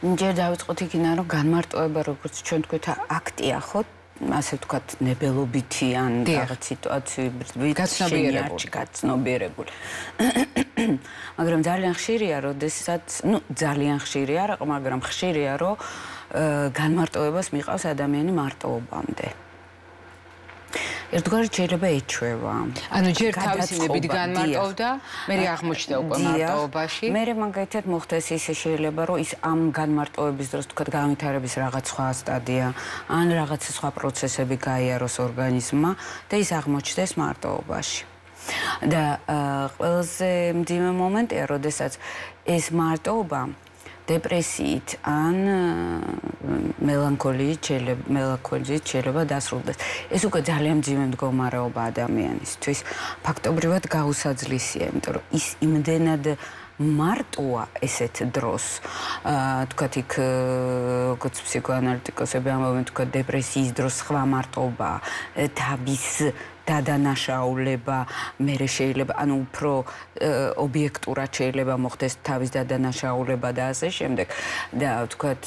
ჯერ დავიწყოთ იქიდან, რომ განმარტოება, როგორც ჩვენ თქვით, აქტია, ხო? ასე ვთქვათ, ნებელობითი ან რაღაც სიტუაციები გაცნობიერებული. გაცნობიერებული. მაგრამ ძალიან ხშირია, როდესაც, ну, ძალიან ხშირი არა, მაგრამ ხშირია, რომ განმარტოებას მიყავს ადამიანი მარტოობამდე. ერთგვარად შეიძლება ეჩვევა. ანუ ჯერ თავისინებით განმარტოვდა, მერე აღმოჩნდა უკვე მარტოობაში. მერე მაგალითად მოხდეს ისე შეიძლება, რომ ის ამ განმარტოების დროს თქვა განვითარების რაღაც სხვა სტადია, ან რაღაც სხვა პროცესები გაიაროს ორგანიზმმა და ის აღმოჩნდეს მარტოობაში. და ყველაზე მძიმე მომენტია, როდესაც ეს მარტოობა დეპრესიით ან მელანქოლიით შეიძლება მელანქოლიით შეიძლება დასრულდეს. ეს უკვე ძალიან მძიმე მდგომარეობა ადამიანისთვის. ფაქტობრივად გაუსაძლისია, იმიტომ რომ ის იმდენად მარტოა ესეთ დროს. აა თქვათ იქ როგორც ფსიქოანალიტიკოსები ამბობენ, თქვათ დეპრესიის დროს სხვა მარტოობა, თავის დადანაშაულება, მერე შეიძლება, ანუ უფრო ობიექტურად შეიძლება მოხდეს თავის დადანაშაულება და ასე შემდეგ. და ვთქვათ,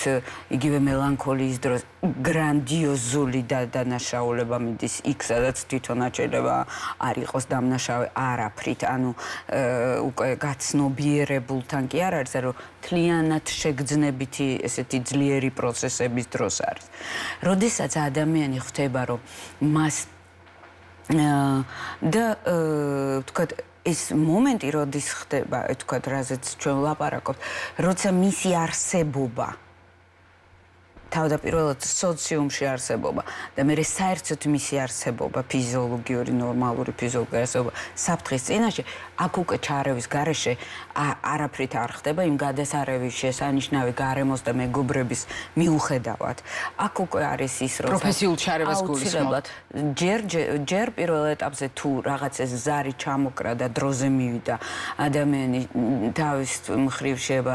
იგივე მელანქოლიის დროს გრანდიოზული დადანაშაულება მიდის იქ, სადაც თვითონაც შეიძლება არ იყოს დამნაშავე არაფრით, ანუ უკვე გაცნობიერებულთან კი არ არის, რომ თლიანად შეგრძნებითი ესეთი ძლიერი პროცესების დროს არის. როდესაც ადამიანი ხვდება, რომ მას და ვთქვათ, ეს მომენტი, როდის ხდება, ვთქვათ, რაზეც ჩვენ ვლაპარაკობთ, როცა მისი არსებობა თავდაპირველად სოციუმში არსებობა და მერე საერთოდ მისი არსებობა, ფიზიოლოგიური, ნორმალური ფიზიოლოგიური არსებობა საფრთხის წინაშე, აქ უკვე ჩარევის გარეშე არაფრით არ ხდება იმ გადასარევის შესანიშნავი გარემოს და მეგობრების მიუხედავად. აქ უკვე არის ის, რომ პროფესიულ ჩარევას გულისხმობთ. ჯერ ჯერ პირველ ეტაპზე თუ რაღაც ეს ზარი ჩამოკრა და დროზე მივიდა, ადამიანი თავის მხრივ შეება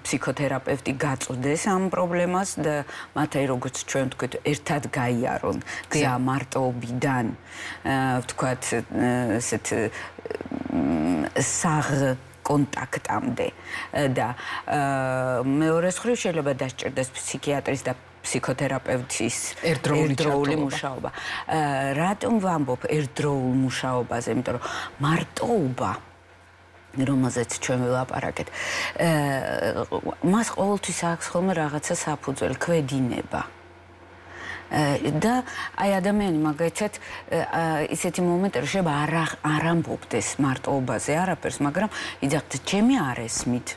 ფსიქოთერაპევტი გაწვდეს ამ პრობლემას და მათი როგორც ჩვენ ვთქვით, ერთად გაიარონ გზა მარტოობიდან, ვთქვათ, ესეთ საღ კონტაქტამდე და მეორე მხრივ შეიძლება დასჭირდეს ფსიქიატრის და ფსიქოთერაპევტის ერთდროული მუშაობა. რატომ ვამბობ ერთდროულ მუშაობაზე? იმიტომ რომ მარტოობა, რომელზეც ჩვენ ვილაპარაკეთ, მას ყოველთვის აქვს ხოლმე რაღაცა საფუძველი, ქვედინება. და აი ადამიანი მაგალითად ისეთი მომენტი შეიძლება არ ამბობდეს მარტოობაზე არაფერს, მაგრამ იძახთ, ჩემი არ ესმით.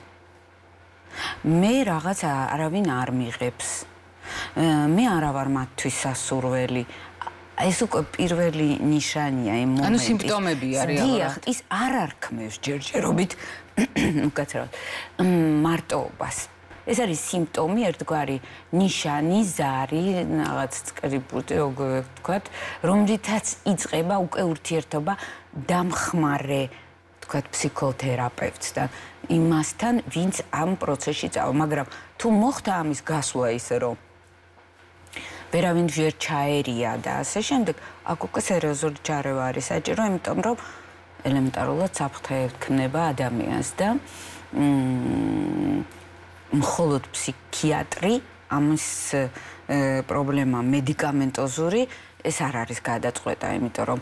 მე რაღაც არავინ არ მიღებს. მე არა ვარ მათთვის სასურველი. ეს უკვე პირველი ნიშანია იმ მომენტის. ანუ სიმპტომებია რეალურად. ის არ არქმევს ჯერჯერობით უკაცრავად მარტოობას. ეს არის სიმპტომი, ერთგვარი ნიშანი, ზარი, რაღაც წკრიბუტი, როგორ ვთქვათ, რომლითაც იწყება უკვე ურთიერთობა დამხმარე, ვთქვათ, ფსიქოთერაპევტთან, იმასთან, ვინც ამ პროცესში წავა, მაგრამ თუ მოხდა ამის გასვლა ისე, რომ ვერავინ ვერ ჩაერია და ასე შემდეგ, აქ უკვე სერიოზული ჩარევა არის საჭირო, იმიტომ რომ ელემენტარულად საფრთხე ექნება ადამიანს და მხოლოდ ფსიქიატრი ამის პრობლემა მედიკამენტოზური ეს არ არის გადაწყვეტა, იმიტომ რომ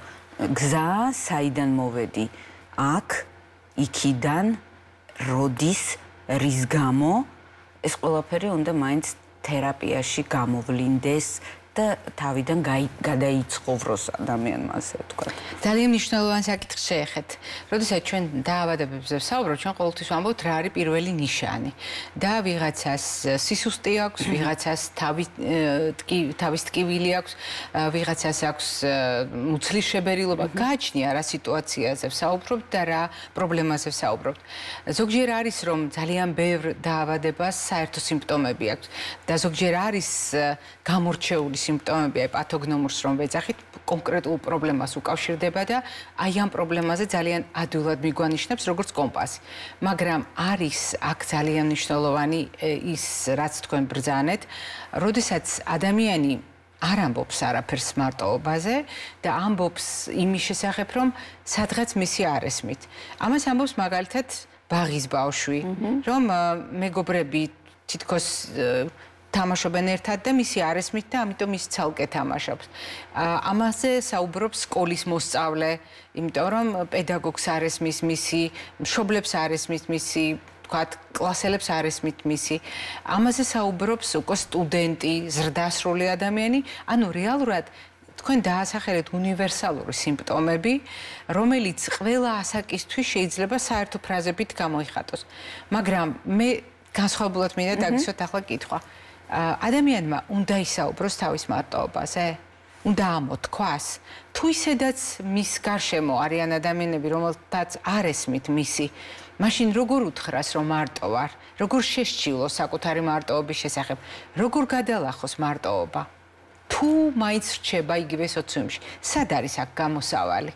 გზა საიდან მოვედი აქ, იქიდან, როდის, რის გამო ეს ყველაფერი უნდა მაინც თერაპიაში გამოვლინდეს და თავიდან გადაიცხოვროს ადამიანმა, ასე ვთქვათ. ძალიან მნიშვნელოვანი საკითხი შეეხეთ. როდესაც ჩვენ დაავადებებზე ვსაუბრობთ, ჩვენ ყოველთვის ვამბობთ, რა არის პირველი ნიშანი. და ვიღაცას სისუსტე აქვს, ვიღაცას თავი თავის ტკივილი აქვს, ვიღაცას აქვს მუცლის შებერილობა. გააჩნია რა სიტუაციაზე ვსაუბრობთ და რა პრობლემაზე ვსაუბრობთ. ზოგჯერ არის რომ ძალიან ბევრ დაავადებას საერთო სიმპტომები აქვს და ზოგჯერ არის გამორჩეული სიმპტომები, აი პათოგნომურს რომ ვეძახით, კონკრეტულ პრობლემას უკავშირდება და აი ამ პრობლემაზე ძალიან ადვილად მიგვანიშნებს როგორც კომპასი. მაგრამ არის აქ ძალიან მნიშვნელოვანი ის, რაც თქვენ ბრძანეთ, როდესაც ადამიანი არ ამბობს არაფერს მარტოობაზე და ამბობს იმის შესახებ, რომ სადღაც მისი არ ესმით. ამას ამბობს მაგალითად ბაღის ბავშვი, რომ მეგობრები თითქოს თამაშობენ ერთად და მისი არ ესმით და ამიტომ ის ცალკე თამაშობს. ამაზე საუბრობს სკოლის მოსწავლე, იმიტომ რომ პედაგოგს არ ესმის მისი, მშობლებს არ ესმის მისი, ვთქვათ, კლასელებს არ ესმით მისი. ამაზე საუბრობს უკვე სტუდენტი, ზრდასრული ადამიანი, ანუ რეალურად თქვენ დაასახელეთ უნივერსალური სიმპტომები, რომელიც ყველა ასაკისთვის შეიძლება საერთო ფრაზებით გამოიხატოს. მაგრამ მე განსხვავებულად მინდა დაგისვათ ახლა კითხვა. ადამიანმა უნდა ისაუბროს თავის მარტოობაზე? უნდა ამოთქვას? თუ ისედაც მის გარშემო არიან ადამიანები, რომელთაც არ ესმით მისი, მაშინ როგორ უთხრას, რომ მარტო ვარ? როგორ შესჩილოს საკუთარი მარტოობის შესახებ? როგორ გადალახოს მარტოობა? თუ მაინც რჩება იგივე სოციუმში, სად არის აქ გამოსავალი?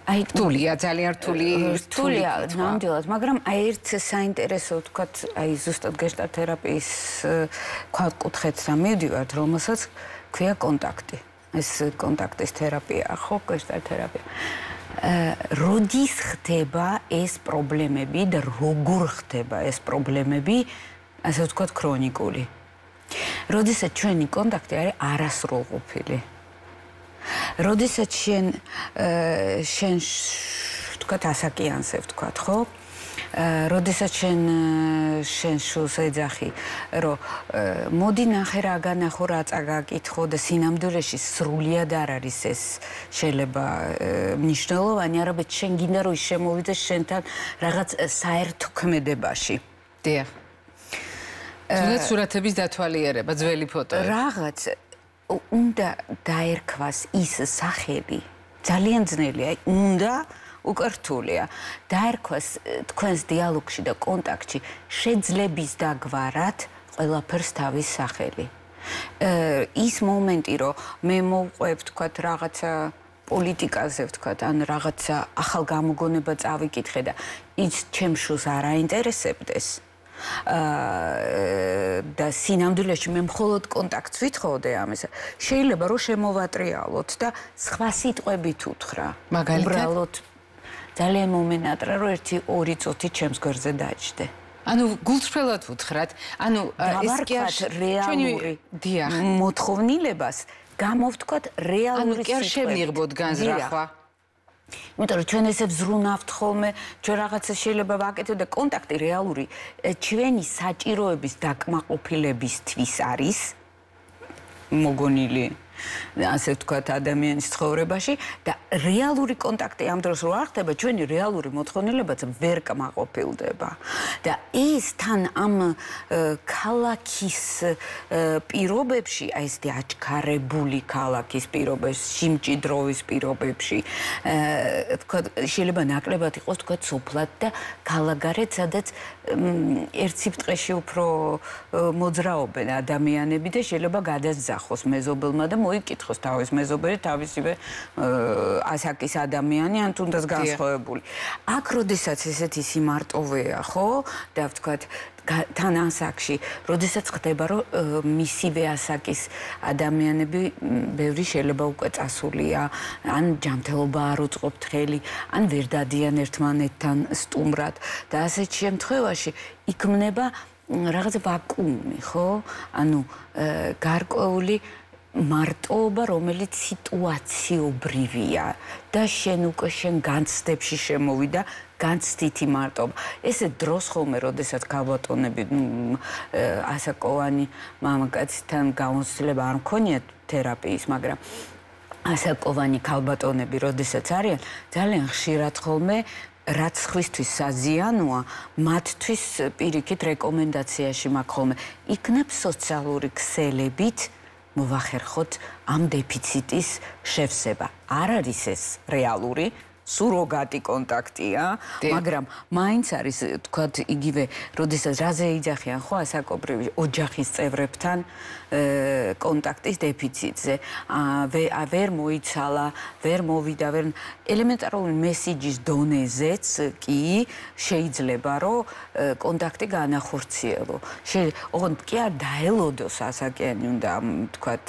აი რთულია, ძალიან რთული, რთულია, ნამდვილად, მაგრამ აი ერთ საინტერესო, ვთქვათ, აი ზუსტად გეშტალტ თერაპიის კუთხეთთან მივდივართ, რომელსაც ქვია კონტაქტი. ეს კონტაქტის თერაპია, ხო, გეშტალტ თერაპია. როდის ხდება ეს პრობლემები და როგორ ხდება ეს პრობლემები, ასე ვთქვათ, ქრონიკული. როდესაც ჩვენი კონტაქტი არის არასრულყოფილი. როდესაც შენ შენ ვთქვათ ასაკიანზე ვთქვათ, ხო? როდესაც შენ შენ შულს ეძახი, რომ მოდი ნახე რა განახო, რა წაგაკითხო და სინამდვილეში სრულიად არ არის ეს შეიძლება მნიშვნელოვანი, არამედ შენ გინდა რომ ის შემოვიდეს შენთან რაღაც საერთო ქმედებაში. დიახ. თუნდაც სურათების დათვალიერება, ძველი ფოტოები. რაღაც უნდა დაერქვას ის სახელი, ძალიან ძნელია, უნდა უკრთულია. დაერქვას თქვენს დიალოგში და კონტაქტში შეძლების დაგვარად ყველაფერს თავის სახელი. ის მომენტი, რომ მე მოვყვებ, თქვათ, რაღაცა პოლიტიკაზე, ვთქვათ, ან რაღაცა ახალ გამოგონება წავიკითხე და ის ჩემ შულს არ აინტერესებდეს. და სინამდვილეში მე მხოლოდ კონტაქტს ვითხოვდე ამისა. შეიძლება რომ შემოვატრიალოთ და სხვა სიტყვებით უთხრა. მაგალითად ძალიან მომენატრა რომ ერთი ორი წუთი ჩემს გვერდზე დაჭდე. ანუ გულწრფელად უთხრათ, ანუ ეს კი არ რეალური დიახ, მოთხოვნილებას გამოვთქვათ რეალური სიტყვებით. ანუ კი არ შემიღბოდ განზრახვა. იმიტომ რომ ჩვენ ესე ვზრუნავთ ხოლმე, ჩვენ რაღაცა შეიძლება ვაკეთოთ და კონტაქტი რეალური ჩვენი საჭიროების დაკმაყოფილებისთვის არის მოგონილი, ასე ვთქვათ, ადამიანის ცხოვრებაში და რეალური კონტაქტი ამ დროს რო არ ხდება, ჩვენი რეალური მოთხოვნილებაც ვერ კმაყოფილდება. და ეს თან ამ ქალაქის პირობებში, აი ესეთი აჩქარებული ქალაქის პირობებში, სიმჭიდროვის პირობებში, ვთქვათ, შეიძლება ნაკლებად იყოს, ვთქვათ, სოფლად და ქალაქგარეთ, სადაც ერთ სიბრტყეში უფრო მოძრაობენ ადამიანები და შეიძლება გადასძახოს მეზობელმა და მოიკითხოს თავის მეზობელი, თავისივე ასაკის ადამიანი, ან თუნდაც განსხვავებული. აქ როდესაც ესეთი სიმარტოვეა, ხო? და ვთქვათ, თან ასაკში, როდესაც ხდება, რომ მისივე ასაკის ადამიანები ბევრი შეიძლება უკვე წასულია, ან ჯანმრთელობა არ უწყობთ ხელი, ან ვერ დადიან ერთმანეთთან სტუმრად და ასეთ შემთხვევაში იქმნება რაღაც ვაკუუმი, ხო? ანუ გარკვეული მარტოობა, რომელიც სიტუაციობრივია და შენ უკვე შენ განცდებში შემოვიდა, განცდითი მარტოობა. ესე დროს ხოლმე, როდესაც გავატონები ასაკოვანი მამაკაცთან გამოცდილება არ მქონია თერაპიის, მაგრამ ასაკოვანი ქალბატონები, როდესაც არიან, ძალიან ხშირად ხოლმე რაც ხვისთვის საზიანოა, მათთვის პირიქით რეკომენდაციაში მაქვს ხოლმე იქნებ სოციალური ქსელებით მოვახერხოთ ამ დეფიციტის შევსება. არ არის ეს რეალური სუროგატი კონტაქტია, მაგრამ მაინც არის, თქვათ, იგივე, როდესაც რაზე იძახიან ხო ასაკობრივი ოჯახის წევრებთან კონტაქტის დეფიციტზე. ვერ მოიცალა, ვერ მოვიდა, ვერ ელემენტარული მესიჯის დონეზეც კი შეიძლება, რომ კონტაქტი განახორციელო. ოღონდ კი არ დაელოდოს ასაკიანი უნდა, თქვათ,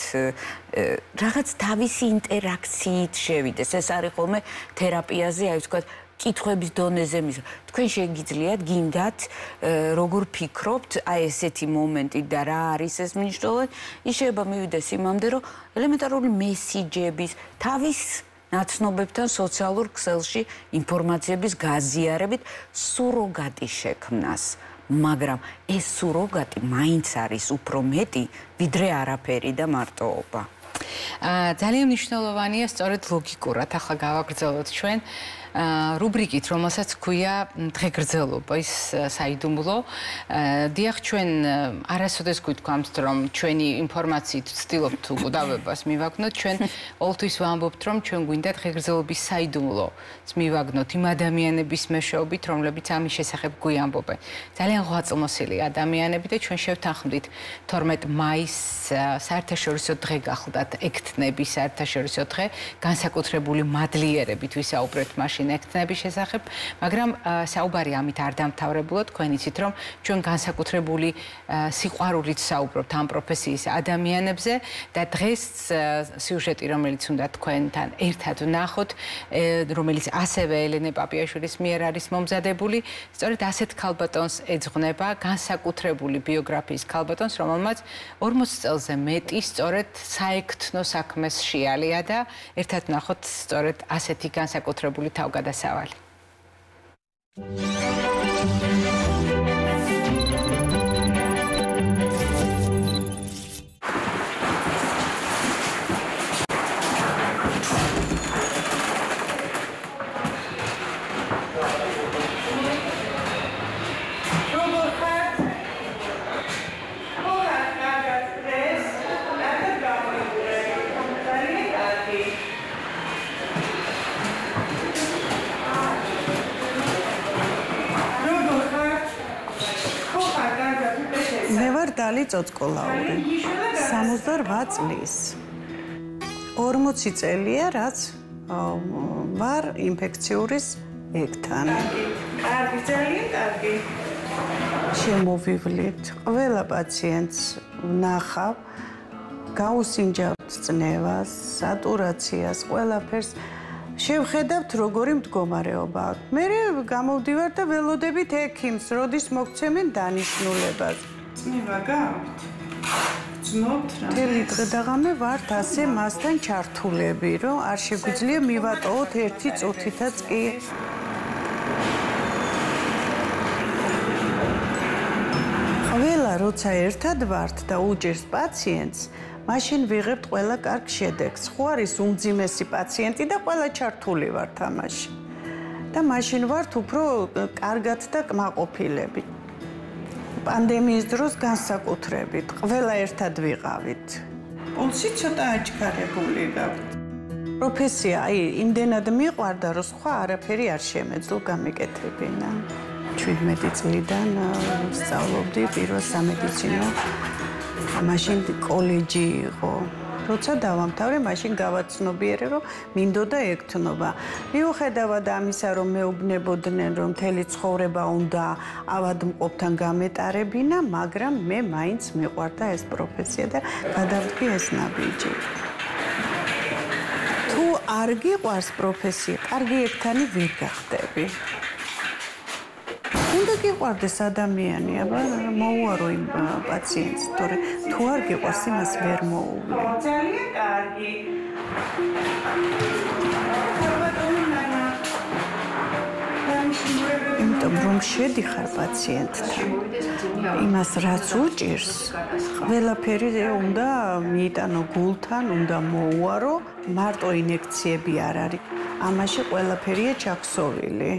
რაღაც თავისი ინტერაქციით შევიდეს. ეს არის ხოლმე თერაპიაზე, აი ვთქვათ, კითხვების დონეზე მის. თქვენ შეგიძლიათ გინდათ როგორ ფიქრობთ, აი ესეთი მომენტი და რა არის ეს მნიშვნელოვანი, ის შეიძლება მივიდეს იმამდე, რომ ელემენტარული მესიჯების თავის ნაცნობებთან სოციალურ ქსელში ინფორმაციების გაზიარებით სუროგატი შექმნას. მაგრამ ეს სუროგატი მაინც არის უფრო მეტი, ვიდრე არაფერი და მარტოობა. ძალიან მნიშვნელოვანია სწორედ ლოგიკურად ახლა გავაგრძელოთ ჩვენ რუბრიკით, რომელსაც ქვია დღეგრძელობა ის საიდუმლო. დიახ, ჩვენ არასოდეს გვითქვამთ, რომ ჩვენი ინფორმაციით ვცდილობთ უკუდავებას მივაგნოთ, ჩვენ ყოველთვის ვამბობთ, რომ ჩვენ გვინდა დღეგრძელობის საიდუმლოც მივაგნოთ იმ ადამიანების მეშვეობით, რომლებიც ამის შესახებ გვიამბობენ. ძალიან ღვაწლმოსილი ადამიანები და ჩვენ შევთანხმდით თორმეტ მაისს საერთაშორისო დღე გახლდათ ექთნების საერთაშორისო დღე, განსაკუთრებული მადლიერებით ვისაუბრეთ მაშინ ექთნების შესახებ, მაგრამ საუბარი ამით არ დამთავრებულა, თქვენ იცით, რომ ჩვენ განსაკუთრებული სიყვარულით საუბრობთ ამ პროფესიის ადამიანებზე და დღეს სიუჟეტი, რომელიც უნდა თქვენთან ერთად ვნახოთ, რომელიც ასევე ელენე პაპიაშვილის მიერ არის მომზადებული, სწორედ ასეთ ქალბატონს ეძღვნება, განსაკუთრებული ბიოგრაფიის ქალბატონს, რომელმაც ორმოცი წელზე მეტი სწორედ საექთნო საქმეს შეალია და ერთად ვნახოთ სწორედ ასეთი განსაკუთრებული თავგადასავალი. დალი წოწკოლაური სამოცდაორვა წლის ორმოცი წელია რაც ვარ ინფექციური ექთანი. კარგი, ძალიან კარგი. შემოვივლით ყველა პაციენტს ვნახავ, გაუსინჯავთ წნევას, სატურაციას, ყველაფერს შევხედავთ როგორი მდგომარეობა აქვს. მე გამოვდივარ და ველოდებით ექიმს, როდის მოგცემენ დანიშნულებას. წნევა გაქვთ? ძნობთ რა? მთელი დღე და ღამე ვართ ასე მასთან ჩართულები, რომ არ შეგვიძლია მივატოვოთ ერთი წუთითაც კი. ყველა როცა ერთად ვართ და უჭერს პაციენტს, მაშინ ვიღებთ ყველა კარგ შედეგს. ხო არის უმძიმესი პაციენტი და ყველა ჩართული ვართ ამაში. და მაშინ ვართ უფრო კარგად და კმაყოფილები. პანდემიის დროს განსაკუთრებით ყველა ერთად ვიყავით. პულსი ცოტა აჩქარებული გაქვთ. პროფესია, აი, იმდენად მიყვარდა, რომ სხვა არაფერი არ შემეძლო გამეკეთებინა. ჩვიდმეტი წლიდან ვსწავლობდი პირველ სამედიცინო. მაშინ კოლეჯი იყო. როცა დავამთავრე, მაშინ გავაცნობიერე, რომ მინდოდა ექთნობა. მიუხედავად ამისა, რომ მეუბნებოდნენ, რომ მთელი ცხოვრება უნდა ავადმყოფთან გამეტარებინა, მაგრამ მე მაინც მიყვარდა ეს პროფესია და გადავდგი ეს ნაბიჯი. თუ არ გიყვარს პროფესია, კარგი ექთანი ვერ გახდები. უნდა გიყვარდეს ადამიანი, აბა მოუარო იმ პაციენტს, თორე თუ არ გიყვარს, იმას ვერ მოუვლი. ძალიან კარგი. ალბათ უნდა დანიშნულება იმიტომ რომ შედიხარ პაციენტთან. იმას რაც უჭირს, ყველაფერი უნდა მიიტანო გულთან, უნდა მოუარო, მარტო ინექციები არ არის. ამაში ყველაფერია ჩაქსოვილი.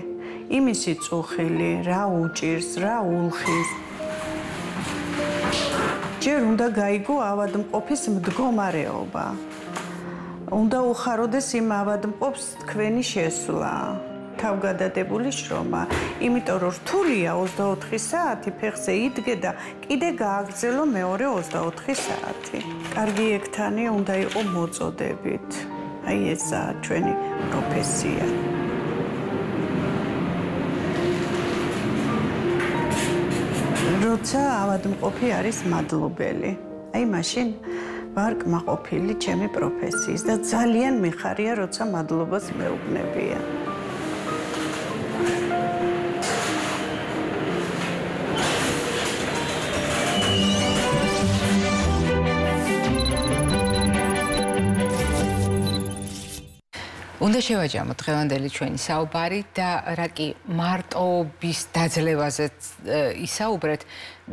იმისი წუხილი, რა უჭირს, რა ულხის. ჯერ უნდა გაიგო ავადმყოფის მდგომარეობა. უნდა უხაროდეს იმ ავადმყოფს თქვენი შესვლა. თავგადადებული შრომა, იმიტომ რომ რთულია ოცდაოთხი საათი ფეხზე იდგე და კიდე გააგრძელო მეორე ოცდაოთხი საათი. კარგი ექთანი უნდა იყო მოწოდებით. აი ესაა ჩვენი პროფესია. როცა ავადმყოფი არის მადლობელი, აი მაშინ ვარ კმაყოფილი ჩემი პროფესიის და ძალიან მიხარია, როცა მადლობას მეუბნებია. უნდა შევაჯამოთ დღევანდელი ჩვენი საუბარი და რა კი მარტოობის დაძლევაზე ისაუბრეთ,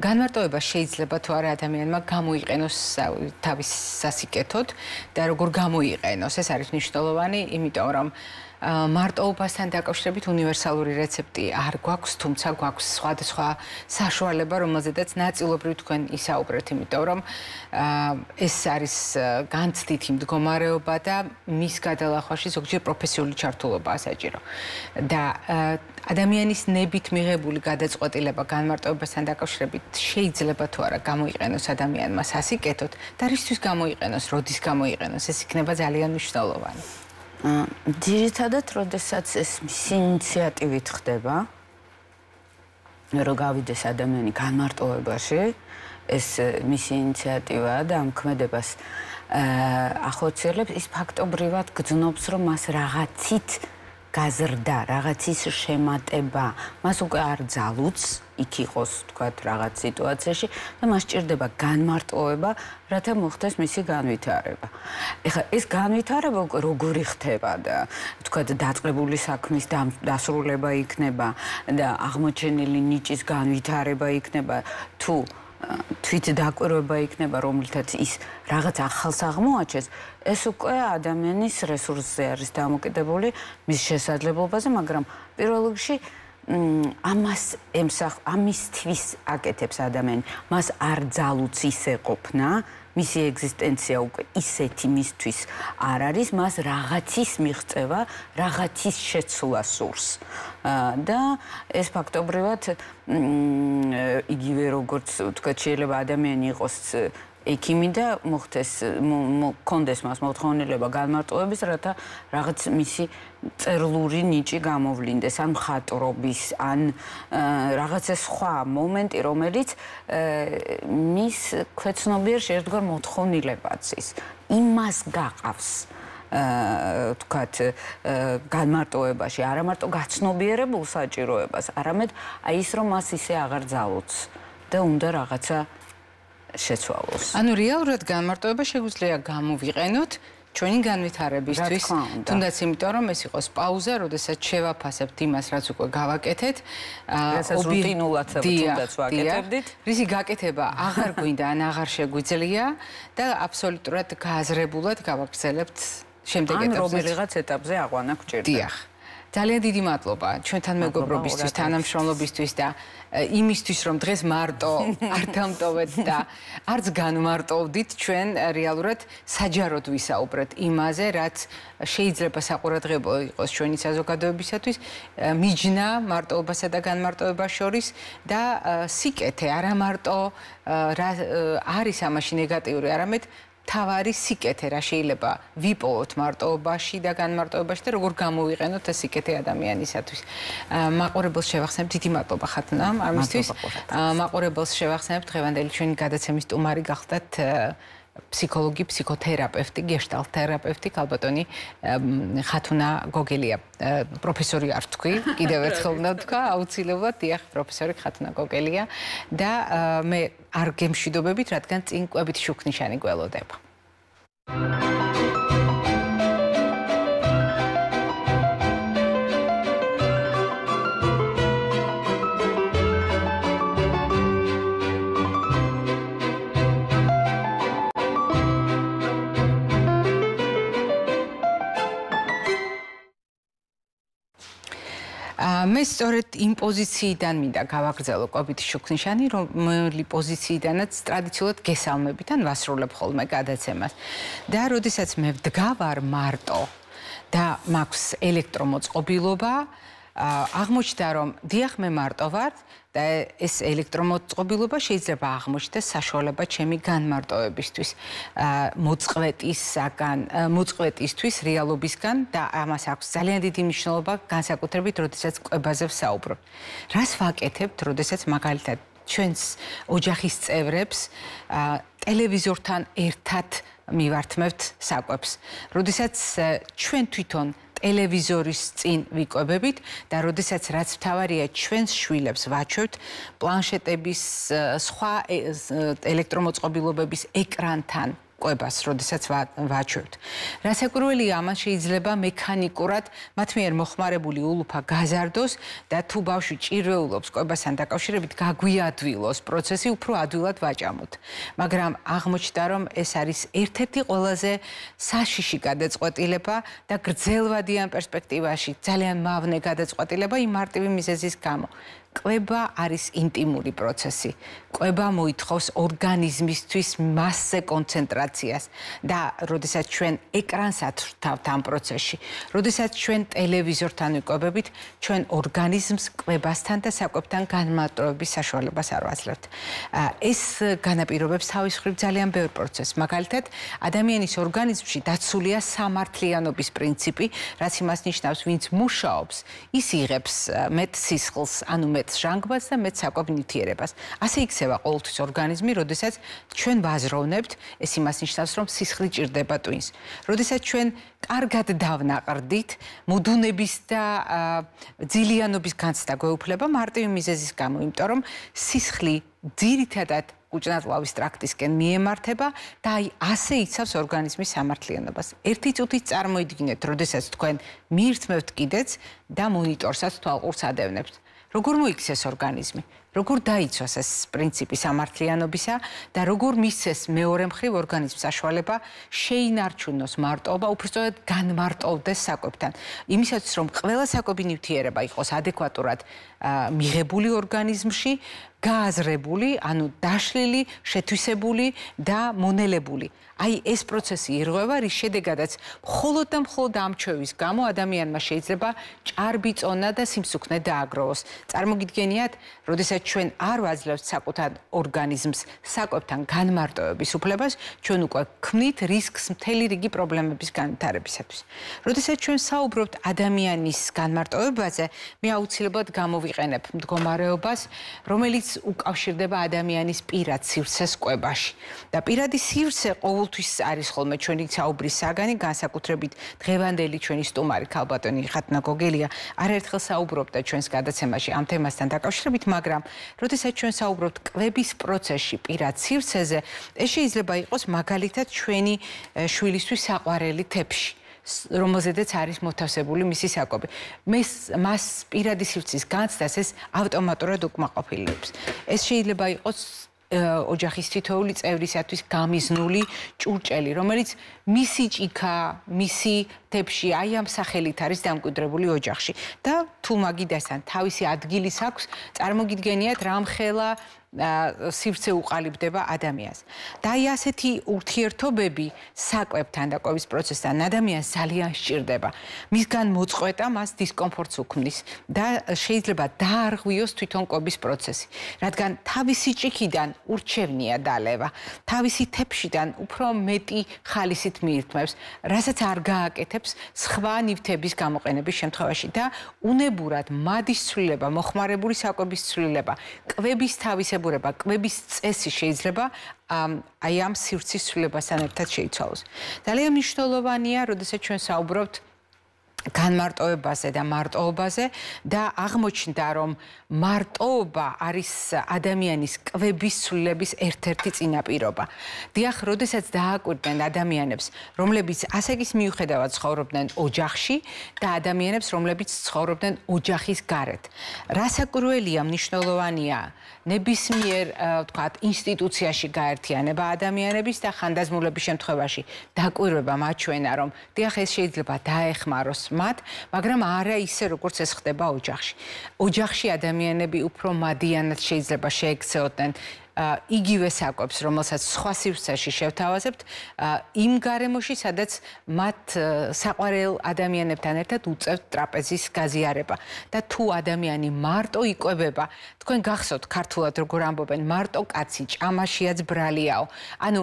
განმარტოება შეიძლება თუ არა ადამიანმა გამოიყენოს თავის სასიკეთოდ და როგორ გამოიყენოს, ეს არის მნიშვნელოვანი, იმიტომ რომ მარტოობასთან დაკავშირებით უნივერსალური რეცეპტი არ გვაქვს, თუმცა გვაქვს სხვადასხვა საშუალება, რომელზედაც ნაწილობრივ თქვენ ისაუბრეთ, იმიტომ რომ ეს არის განცდითი მდგომარეობა და მის გადალახვაში ზოგჯერ პროფესიული ჩართულობაა საჭირო. და ადამიანის ნებით მიღებული გადაწყვეტილება განმარტოებასთან დაკავშირებით შეიძლება თუ არა გამოიყენოს ადამიანმა სასიკეთოდ და რისთვის გამოიყენოს, როდის გამოიყენოს, ეს იქნება ძალიან მნიშვნელოვანი. ძირითადად, როდესაც ეს ინიციატივით ხდება, რომ გავიდეს ადამიანი განმარტოებაში, ეს მისი ინიციატივაა და ამ ქმედებას ახორციელებს, ის ფაქტობრივად გძნობს, რომ მას რაღაცით გაზრდა, რაღაცის შემატება, მას უკვე არ ძალუც, იქ იყოს, თქვათ, რაღაც სიტუაციაში და მას სჭირდება განმარტოება, რათა მოხდეს მისი განვითარება. ეხლა ეს განვითარება უკვე როგორი ხდება და თქვათ, დაწყებული საქმის დასრულება იქნება და აღმოჩენილი ნიჭის განვითარება იქნება, თუ თვით დაკვირვება იქნება, რომლითაც ის რაღაც ახალს აღმოაჩენს, ეს უკვე ადამიანის რესურსზე არის დამოკიდებული მის შესაძლებლობაზე, მაგრამ პირველ რიგში ამას ემსახ ამისთვის აკეთებს ადამიანი, მას არ ძალუც ისე ყოფნა, მისი ეგზისტენცია უკვე ისეთი მისთვის არ არის, მას რაღაცის მიღწევა, რაღაცის შეცვლა სურს. და ეს ფაქტობრივად იგივე როგორც თქვა შეიძლება ადამიანი იყოს ექიმი და მოხდეს კონდეს მას მოთხოვნილება განმარტოების, რათა რაღაც მისი წერლური ნიჭი გამოვლინდეს, ან მხატვრობის, ან რაღაცა სხვა მომენტი, რომელიც მის ქვეცნობიერ შეერთგვარ მოთხოვნილებაც ის იმას გაყავს. თქვათ განმარტოებაში არა მარტო გაცნობიერებულ საჭიროებას, არამედ აი ის რომ მას ისე აღარ ძალუც და უნდა რაღაცა შეცვალოს. ანუ რეალურად განმარტოება შეგვიძლია გამოვიყენოთ ჩვენი განვითარებისთვის, თუნდაც იმიტომ რომ ეს იყოს პაუზა, როდესაც შევაფასებთ იმას, რაც უკვე გავაკეთეთ, რასაც რუტინულად თუნდაც ვაკეთებდით, რისი გაკეთება აღარ გვინდა ან აღარ შეგვიძლია და აბსოლუტურად გააზრებულად გავაგრძელებთ შემდეგ ეტაპზე. ან რომელიღაც ეტაპზე აყვანა გჭირდება. დიახ. ძალიან დიდი მადლობა ჩვენთან მეგობრობისთვის, თანამშრომლობისთვის და იმისთვის, რომ დღეს მარტო არ დამტოვეთ და არც განმარტოვდით, ჩვენ რეალურად საჯაროდ ვისაუბრეთ იმაზე, რაც შეიძლება საყურადღებო იყოს ჩვენი საზოგადოებისათვის, მიჯნა მარტოობასა და განმარტოებას შორის და სიკეთე, არა მარტო არის ამაში ნეგატიური, არამედ თავარი სიკეთე, რა შეიძლება ვიპოვოთ მარტოობაში და განმარტოებაში და როგორ გამოვიყენოთ ეს სიკეთე ადამიანისათვის. მაყურებელს შევახსენებთ, დიდი მადლობა ხათუნა ამისთვის. მაყურებელს შევახსენებთ, დღევანდელი ჩვენი გადაცემის სტუმარი გახდათ ფსიქოლოგი, ფსიქოთერაპევტი, გეშტალტ თერაპევტი, ქალბატონი ხათუნა გოგელია. პროფესორი არ თქვი, კიდევ ერთხელ უნდა ვთქვა, აუცილებლად, დიახ, პროფესორი ხათუნა გოგელია და მე არ გემშვიდობებით, რადგან წინ კვებითი შუქნიშანი გველოდება. მე სწორედ იმ პოზიციიდან მინდა გავაგრძელო კვებითი შუქნიშანი, რომელი პოზიციიდანაც ტრადიციულად გესალმებით ან ვასრულებ ხოლმე გადაცემას. და როდესაც მე ვდგავარ მარტო და მაქვს ელექტრომოწყობილობა, აღმოჩნდა რომ დიახ მე მარტო ვარ და ეს ელექტრომოწყობილობა შეიძლება აღმოჩნდეს საშუალება ჩემი განმარტოებისთვის, მოწყვეტისაგან, მოწყვეტისთვის რეალობისგან და ამას აქვს ძალიან დიდი მნიშვნელობა განსაკუთრებით, როდესაც კვებაზე ვსაუბრობ. რას ვაკეთებთ, როდესაც მაგალითად ჩვენს ოჯახის წევრებს ტელევიზორთან ერთად მივართმევთ საკვებს. როდესაც ჩვენ თვითონ ტელევიზორის წინ ვიკვებებით და როდესაც რაც მთავარია ჩვენს შვილებს ვაჩვევთ პლანშეტების სხვა ელექტრომოწყობილობების ეკრანთან კვებას, როდესაც ვაჩვევთ. რასაკვირველია, ამან შეიძლება მექანიკურად მათ მიერ მოხმარებული ულუფა გაზარდოს და თუ ბავშვი ჭირვეულობს კვებასთან დაკავშირებით გაგვიადვილოს პროცესი, უფრო ადვილად ვაჭამოთ. მაგრამ აღმოჩნდა, რომ ეს არის ერთ-ერთი ყველაზე საშიში გადაწყვეტილება და გრძელვადიან პერსპექტივაში ძალიან მავნე გადაწყვეტილება იმ მარტივი მიზეზის გამო. კვება არის ინტიმური პროცესი. კვება მოითხოვს ორგანიზმისთვის მასზე კონცენტრაციას და როდესაც ჩვენ ეკრანს ათვრთავთ ამ პროცესში, როდესაც ჩვენ ტელევიზორთან ვიკვებებით, ჩვენ ორგანიზმს კვებასთან და საკვებთან განმარტოების საშუალებას არ ვაძლევთ. ეს განაპირობებს თავის მხრივ ძალიან ბევრ პროცესს. მაგალითად, ადამიანის ორგანიზმში დაცულია სამართლიანობის პრინციპი, რაც იმას ნიშნავს, ვინც მუშაობს, ის იღებს მეტ სისხლს, ანუ მეტ ჟანგბადს და მეტ საკვებ ნივთიერებას. ასე იქცევა ყოველთვის ორგანიზმი, როდესაც ჩვენ ვაზროვნებთ, ეს იმას ნიშნავს, რომ სისხლი ჭირდება ტვინს. როდესაც ჩვენ კარგად დავნაყრდით, მოდუნების და ძილიანობის განცდა გვეუფლება მარტივი მიზეზის გამო, იმიტომ რომ სისხლი ძირითადად კუჭნაწლავის ტრაქტისკენ მიემართება და აი ასე იცავს ორგანიზმის სამართლიანობას. ერთი წუთით წარმოიდგინეთ, როდესაც თქვენ მიირთმევთ კიდეც და მონიტორსაც თვალყურს ადევნებთ. როგორ მოიქცეს ორგანიზმი, როგორ დაიცვას ეს პრინციპი სამართლიანობისა და როგორ მისცეს მეორე მხრივ ორგანიზმს საშუალება შეინარჩუნოს მარტოობა, უბრალოდ განმარტოვდეს საკვებთან. იმისათვის, რომ ყველა საკვები ნივთიერება იყოს ადეკვატურად მიღებული ორგანიზმში, გააზრებული, ანუ დაშლილი, შეთვისებული და მონელებული. აი ეს პროცესი ირღვევა, რის შედეგადაც მხოლოდ და მხოლოდ ამჩვევის გამო ადამიანმა შეიძლება ჭარბი წონა და სიმსუქნე დააგროვოს. წარმოგიდგენიათ, როდესაც ჩვენ არ ვაძლევთ საკუთარ ორგანიზმს საკვებთან განმარტოების უფლებას, ჩვენ უკვე ქმნით რისკს მთელი რიგი პრობლემების განვითარებისათვის. როდესაც ჩვენ საუბრობთ ადამიანის განმარტოებაზე, მე აუცილებლად გამოვიყენებ მდგომარეობას, რომელიც უკავშირდება ადამიანის პირად სივრცეს კვებაში. და პირადი სივრცე ყოველთვის არის ხოლმე ჩვენი საუბრის საგანი, განსაკუთრებით დღევანდელი ჩვენი სტუმარი ქალბატონი ხათნა გოგელია არაერთხელ საუბრობდა ჩვენს გადაცემაში ამ თემასთან დაკავშირებით, მაგრამ როდესაც ჩვენ საუბრობთ კვების პროცესში პირად სივრცეზე, ეს შეიძლება იყოს მაგალითად ჩვენი შვილისთვის საყვარელი თეფში, რომელზედაც არის მოთავსებული მისი საკვები. მას პირადი სივრცის განცდას ეს ავტომატურად უკმაყოფილებს. ეს შეიძლება იყოს ოჯახის თითოეული წევრისათვის გამიზნული ჭურჭელი, რომელიც მისი ჭიქა, მისი თეფში აი ამ სახელით არის დამკვიდრებული ოჯახში. და თუ მაგიდასთან თავისი ადგილის აქვს, წარმოგიდგენიათ რამხელა სივრცე უყალიბდება ადამიანს. და აი ასეთი ურთიერთობები საკვებთან და კვების პროცესთან ადამიანს ძალიან სჭირდება. მისგან მოწყვეტა მას დისკომფორტს უქმნის და შეიძლება დაარღვიოს თვითონ კვების პროცესი, რადგან თავისი ჭიქიდან ურჩევნია დალევა, თავისი თეფშიდან უფრო მეტი ხალისით მიირთმევს, რასაც არ გააკეთებს სხვა ნივთების გამოყენების შემთხვევაში და უნებურად მადის ცვლილება, მოხმარებული საკვების ცვლილება, კვების თავისებურება, კვების წესი შეიძლება აი ამ სივრცის ცვლილებასთან ერთად შეიცვალოს. ძალიან მნიშვნელოვანია, როდესაც ჩვენ საუბრობთ განმარტოებაზე და მარტოობაზე და აღმოჩნდა, რომ მარტოობა არის ადამიანის კვების ცვლილების ერთ-ერთი წინაპირობა. დიახ, როდესაც დააკვირდნენ ადამიანებს, რომლებიც ასაკის მიუხედავად ცხოვრობდნენ ოჯახში და ადამიანებს, რომლებიც ცხოვრობდნენ ოჯახის გარეთ. რასაკვირველია, მნიშვნელოვანია ნებისმიერ, ვთქვათ, ინსტიტუციაში გაერთიანება ადამიანების და ხანდაზმულების შემთხვევაში დაკვირვება მაჩვენა, რომ დიახ, ეს შეიძლება დაეხმაროს მათ, მაგრამ არა ისე, როგორც ეს ხდება ოჯახში. ოჯახში ადამიანები უფრო მადიანად შეიძლება შეექცეოდნენ იგივე საკვებს, რომელსაც სხვა სივრცეში შევთავაზებთ, იმ გარემოში, სადაც მათ საყვარელ ადამიანებთან ერთად უწევთ ტრაპეზის გაზიარება. და თუ ადამიანი მარტო იკვებება, თქვენ გახსოვთ ქართულად როგორ ამბობენ, მარტო კაცი ჭამაშიაც ბრალიაო. ანუ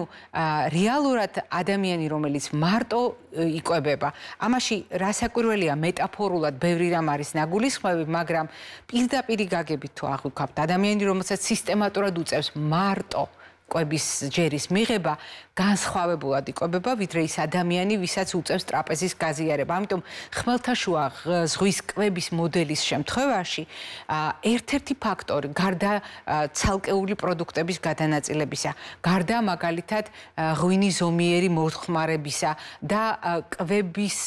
რეალურად ადამიანი, რომელიც მარტო იკვებება, ამაში რასაკვირველია მეტაფორულად ბევრი რამ არის ნაგულისხმები, მაგრამ პირდაპირ გაგებით თუ აღვიქვამთ ადამიანი, რომელსაც სისტემატურად უწევს მარტო კვების ჯერის მიღება განსხვავებულად იკვებება, ვიდრე ის ადამიანი, ვისაც უწევს ტრაპეზის გაზიარება. ამიტომ ხმელთაშუა ზღვის კვების მოდელის შემთხვევაში ერთ-ერთი ფაქტორი, გარდა ცალკეული პროდუქტების გადანაწილებისა, გარდა მაგალითად ღვინის ზომიერი მოხმარებისა და კვების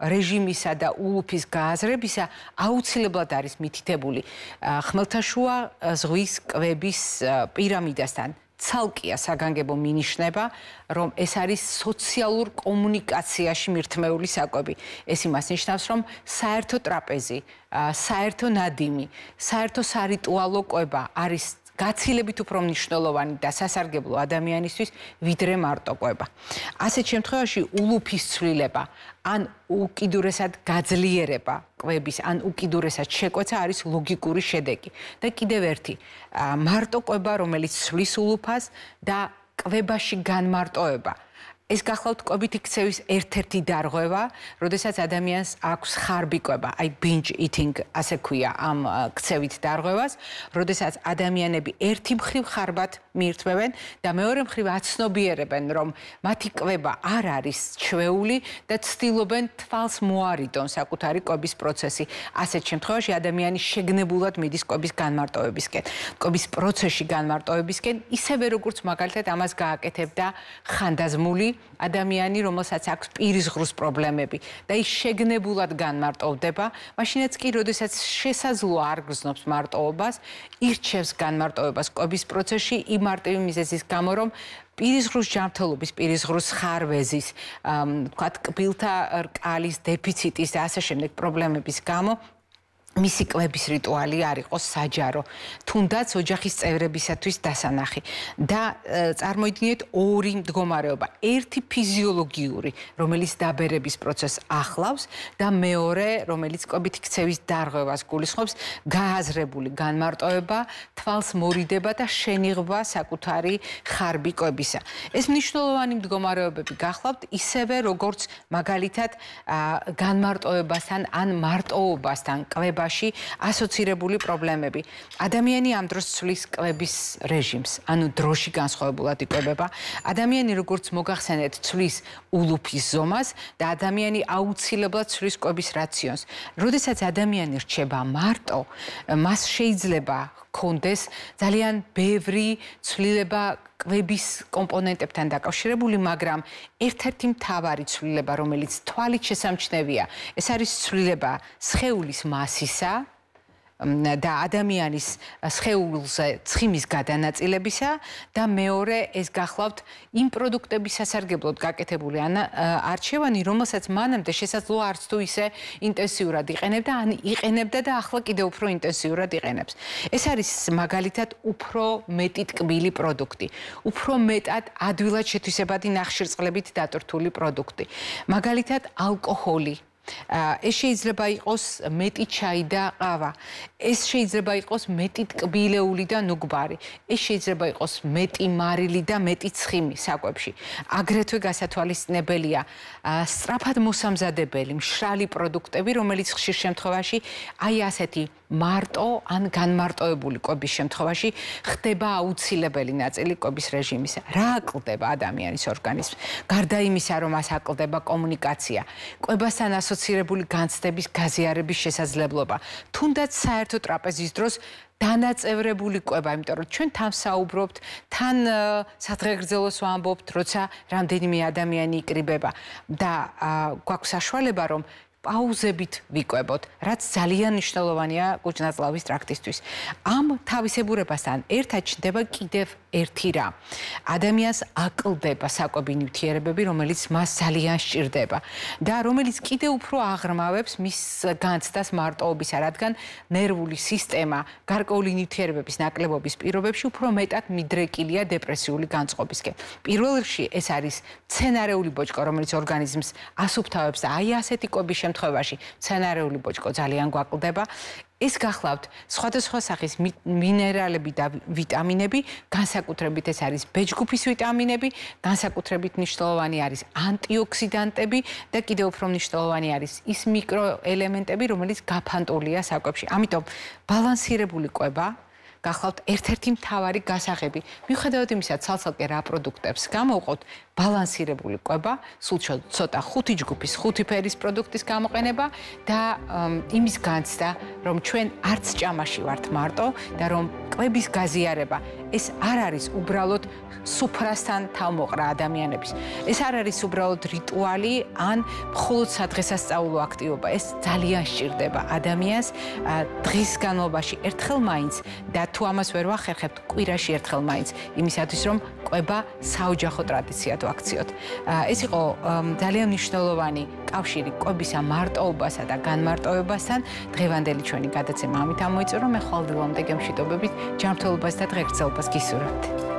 რეჟიმისა და ულუფის გააზრებისა, აუცილებლად არის მითითებული ხმელთაშუა ზღვის კვების პირამიდასთან. ცალკეა საგანგებო მინიშნება, რომ ეს არის სოციალურ კომუნიკაციაში მირთმეული საკვები. ეს იმას ნიშნავს, რომ საერთო ტრაპეზი, საერთო ნადიმი, საერთო სარიტუალო კვება არის გაცილებით უფრო მნიშვნელოვანი და სასარგებლო ადამიანისთვის, ვიდრე მარტო კვება. ასეთ შემთხვევაში ულუფის ცვლილება ან უკიდურესად გაძლიერება კვების, ან უკიდურესად შეკვეცა არის ლოგიკური შედეგი. და კიდევ ერთი, მარტო კვება, რომელიც ცვლის ულუფას და კვებაში განმარტოება. ეს გახლავთ კვებით იქცევის ერთ-ერთი დარღვევა, როდესაც ადამიანს აქვს ხარბი კვება, აი binge eating ასე ქვია ამ ქცევით დარღვევას, როდესაც ადამიანები ერთი მხრივ ხარბად მიირთმევენ და მეორე მხრივ აცნობიერებენ, რომ მათი კვება არ არის ჩვეული და ცდილობენ თვალს მოარიდონ საკუთარი კვების პროცესი. ასეთ შემთხვევაში ადამიანი შეგნებულად მიდის კვების განმარტოებისკენ. კვების პროცესში განმარტოებისკენ, ისევე როგორც მაგალითად ამას გააკეთებდა ხანდაზმული ადამიანი, რომელსაც აქვს პირისღრუს პრობლემები და ის შეგნებულად განმარტოვდება, მაშინაც კი, როდესაც შესაძლოა არ გრძნობს მარტოობას, ირჩევს განმარტოებას კვების პროცესში იმ მარტივი მიზეზის გამო, რომ პირისღრუს ჯანმრთელობის, პირისღრუს ხარვეზის, თქვათ, კბილთა რკალის დეფიციტის და ასე შემდეგ პრობლემების გამო მისი კვების რიტუალი არ იყოს საჯარო, თუნდაც ოჯახის წევრებისათვის დასანახი. და წარმოიდგინეთ ორი მდგომარეობა. ერთი ფიზიოლოგიური, რომელიც დაბერების პროცესს ახლავს და მეორე, რომელიც კვებით ქცევის დარღვევას გულისხმობს, გააზრებული განმარტოება, თვალს მორიდება და შენიღვა საკუთარი ხარბი კვებისა. ეს მნიშვნელოვანი მდგომარეობები გახლავთ ისევე, როგორც მაგალითად განმარტოებასთან ან მარტოობასთან კვება ასოცირებული პრობლემები. ადამიანი ამ დროს ცვლის კვების რეჟიმს, ანუ დროში განსხვავებულად იკვებება. ადამიანი როგორც მოგახსენეთ, ცვლის ულუფის ზომას და ადამიანი აუცილებლად ცვლის კვების რაციონს. როდესაც ადამიანი რჩება მარტო, მას შეიძლება ჰქონდეს ძალიან ბევრი ცვლილება კვების კომპონენტებთან დაკავშირებული, მაგრამ ერთ-ერთი მთავარი ცვლილება, რომელიც თვალით შესამჩნევია, ეს არის ცვლილება სხეულის მასისა და ადამიანის სხეულზე ცხიმის გადანაწილებისა და მეორე ეს გახლავთ იმ პროდუქტების სასარგებლოდ გაკეთებული არჩევანი, რომელსაც მანამდე შესაძლოა არც თუ ისე ინტენსიურად იყენებდა, ან იყენებდა და ახლა კიდევ უფრო ინტენსიურად იყენებს. ეს არის მაგალითად უფრო მეტი ტკბილი პროდუქტი, უფრო მეტად ადვილად შეთვისებადი ნახშირწყლებით დატვირთული პროდუქტი. მაგალითად ალკოჰოლი. ეს შეიძლება იყოს მეტი ჩაი და ყავა. ეს შეიძლება იყოს მეტი ტკბილეული და ნუგბარი. ეს შეიძლება იყოს მეტი მარილი და მეტი ცხიმი საკვებში. აგრეთვე გასათვალისწინებელია სწრაფად მოსამზადებელი მშრალი პროდუქტები, რომელიც ხშირ შემთხვევაში აი ასეთი მარტო ან განმარტოებული კვების შემთხვევაში ხდება აუცილებელი ნაწილი კვების რეჟიმისა. რა აკლდება ადამიანის ორგანიზმს? გარდა იმისა, რომ მას აკლდება კომუნიკაცია, კვებასთან ასოცირებული განცდების გაზიარების შესაძლებლობა, თუნდაც საერთო ტრაპეზის დროს დანაწევრებული კვება, იმიტომ რომ ჩვენ თან საუბრობთ, თან სადღეგრძელოს ვამბობთ, როცა რამდენიმე ადამიანი იკრიბება და გვაქვს საშუალება, რომ პაუზებით ვიკვებოთ, რაც ძალიან მნიშვნელოვანია კუჭ-ნაწლავის ტრაქტისთვის. ამ თავისებურებასთან ერთად ჩნდება კიდევ ერთი რა. ადამიანს აკლდება საკვები ნივთიერებები, რომელიც მას ძალიან სჭირდება და რომელიც კიდევ უფრო აღრმავებს მის განცდას მარტოობისა, რადგან ნერვული სისტემა გარკვეული ნივთიერებების ნაკლებობის პირობებში უფრო მეტად მიდრეკილია დეპრესიული განწყობისკენ. პირველ რიგში ეს არის მცენარეული ბოჭკო, რომელიც ორგანიზმს ასუფთავებს და აი ასეთი კვების შემთხვევაში მცენარეული ბოჭკო ძალიან გვაკლდება. ეს გახლავთ სხვადასხვა სახის მინერალები და ვიტამინები, განსაკუთრებით ეს არის ბეჭდგუფის ვიტამინები, განსაკუთრებით მნიშვნელოვანი არის ანტიოქსიდანტები და კიდევ უფრო მნიშვნელოვანი არის ის მიკროელემენტები, რომელიც გაფანტულია საკვებში. ამიტომ ბალანსირებული კვება გახლავთ ერთ-ერთი მთავარი გასაღები. მიუხედავად იმისა, ცალ-ცალკე რა პროდუქტებს გამოვყოთ, ბალანსირებული კვება, სულ ცოტა ხუთი ჯგუფის, ხუთი ფერის პროდუქტის გამოყენება და იმის განცდა, რომ ჩვენ არც ჭამაში ვართ მარტო და რომ კვების გაზიარება ეს არ არის უბრალოდ სუფრასთან თავმოყრა ადამიანების. ეს არ არის უბრალოდ რიტუალი ან მხოლოდ სადღესასწაულო აქტივობა. ეს ძალიან სჭირდება ადამიანს დღის განმავლობაში ერთხელ მაინც და თუ ამას ვერ ვახერხებთ, კვირაში ერთხელ მაინც, იმისათვის რომ კვება საოჯახო ტრადიციად ვაქციოთ. ეს იყო ძალიან მნიშვნელოვანი კავშირი კვებისა მარტოობასა და განმარტოებასთან. დღევანდელი ჩვენი გადაცემა ამით ამოიწურა. მე ხვალდილამდე გემშვიდობებით, ჯანმრთელობას და დღეგრძელობას გისურვებთ.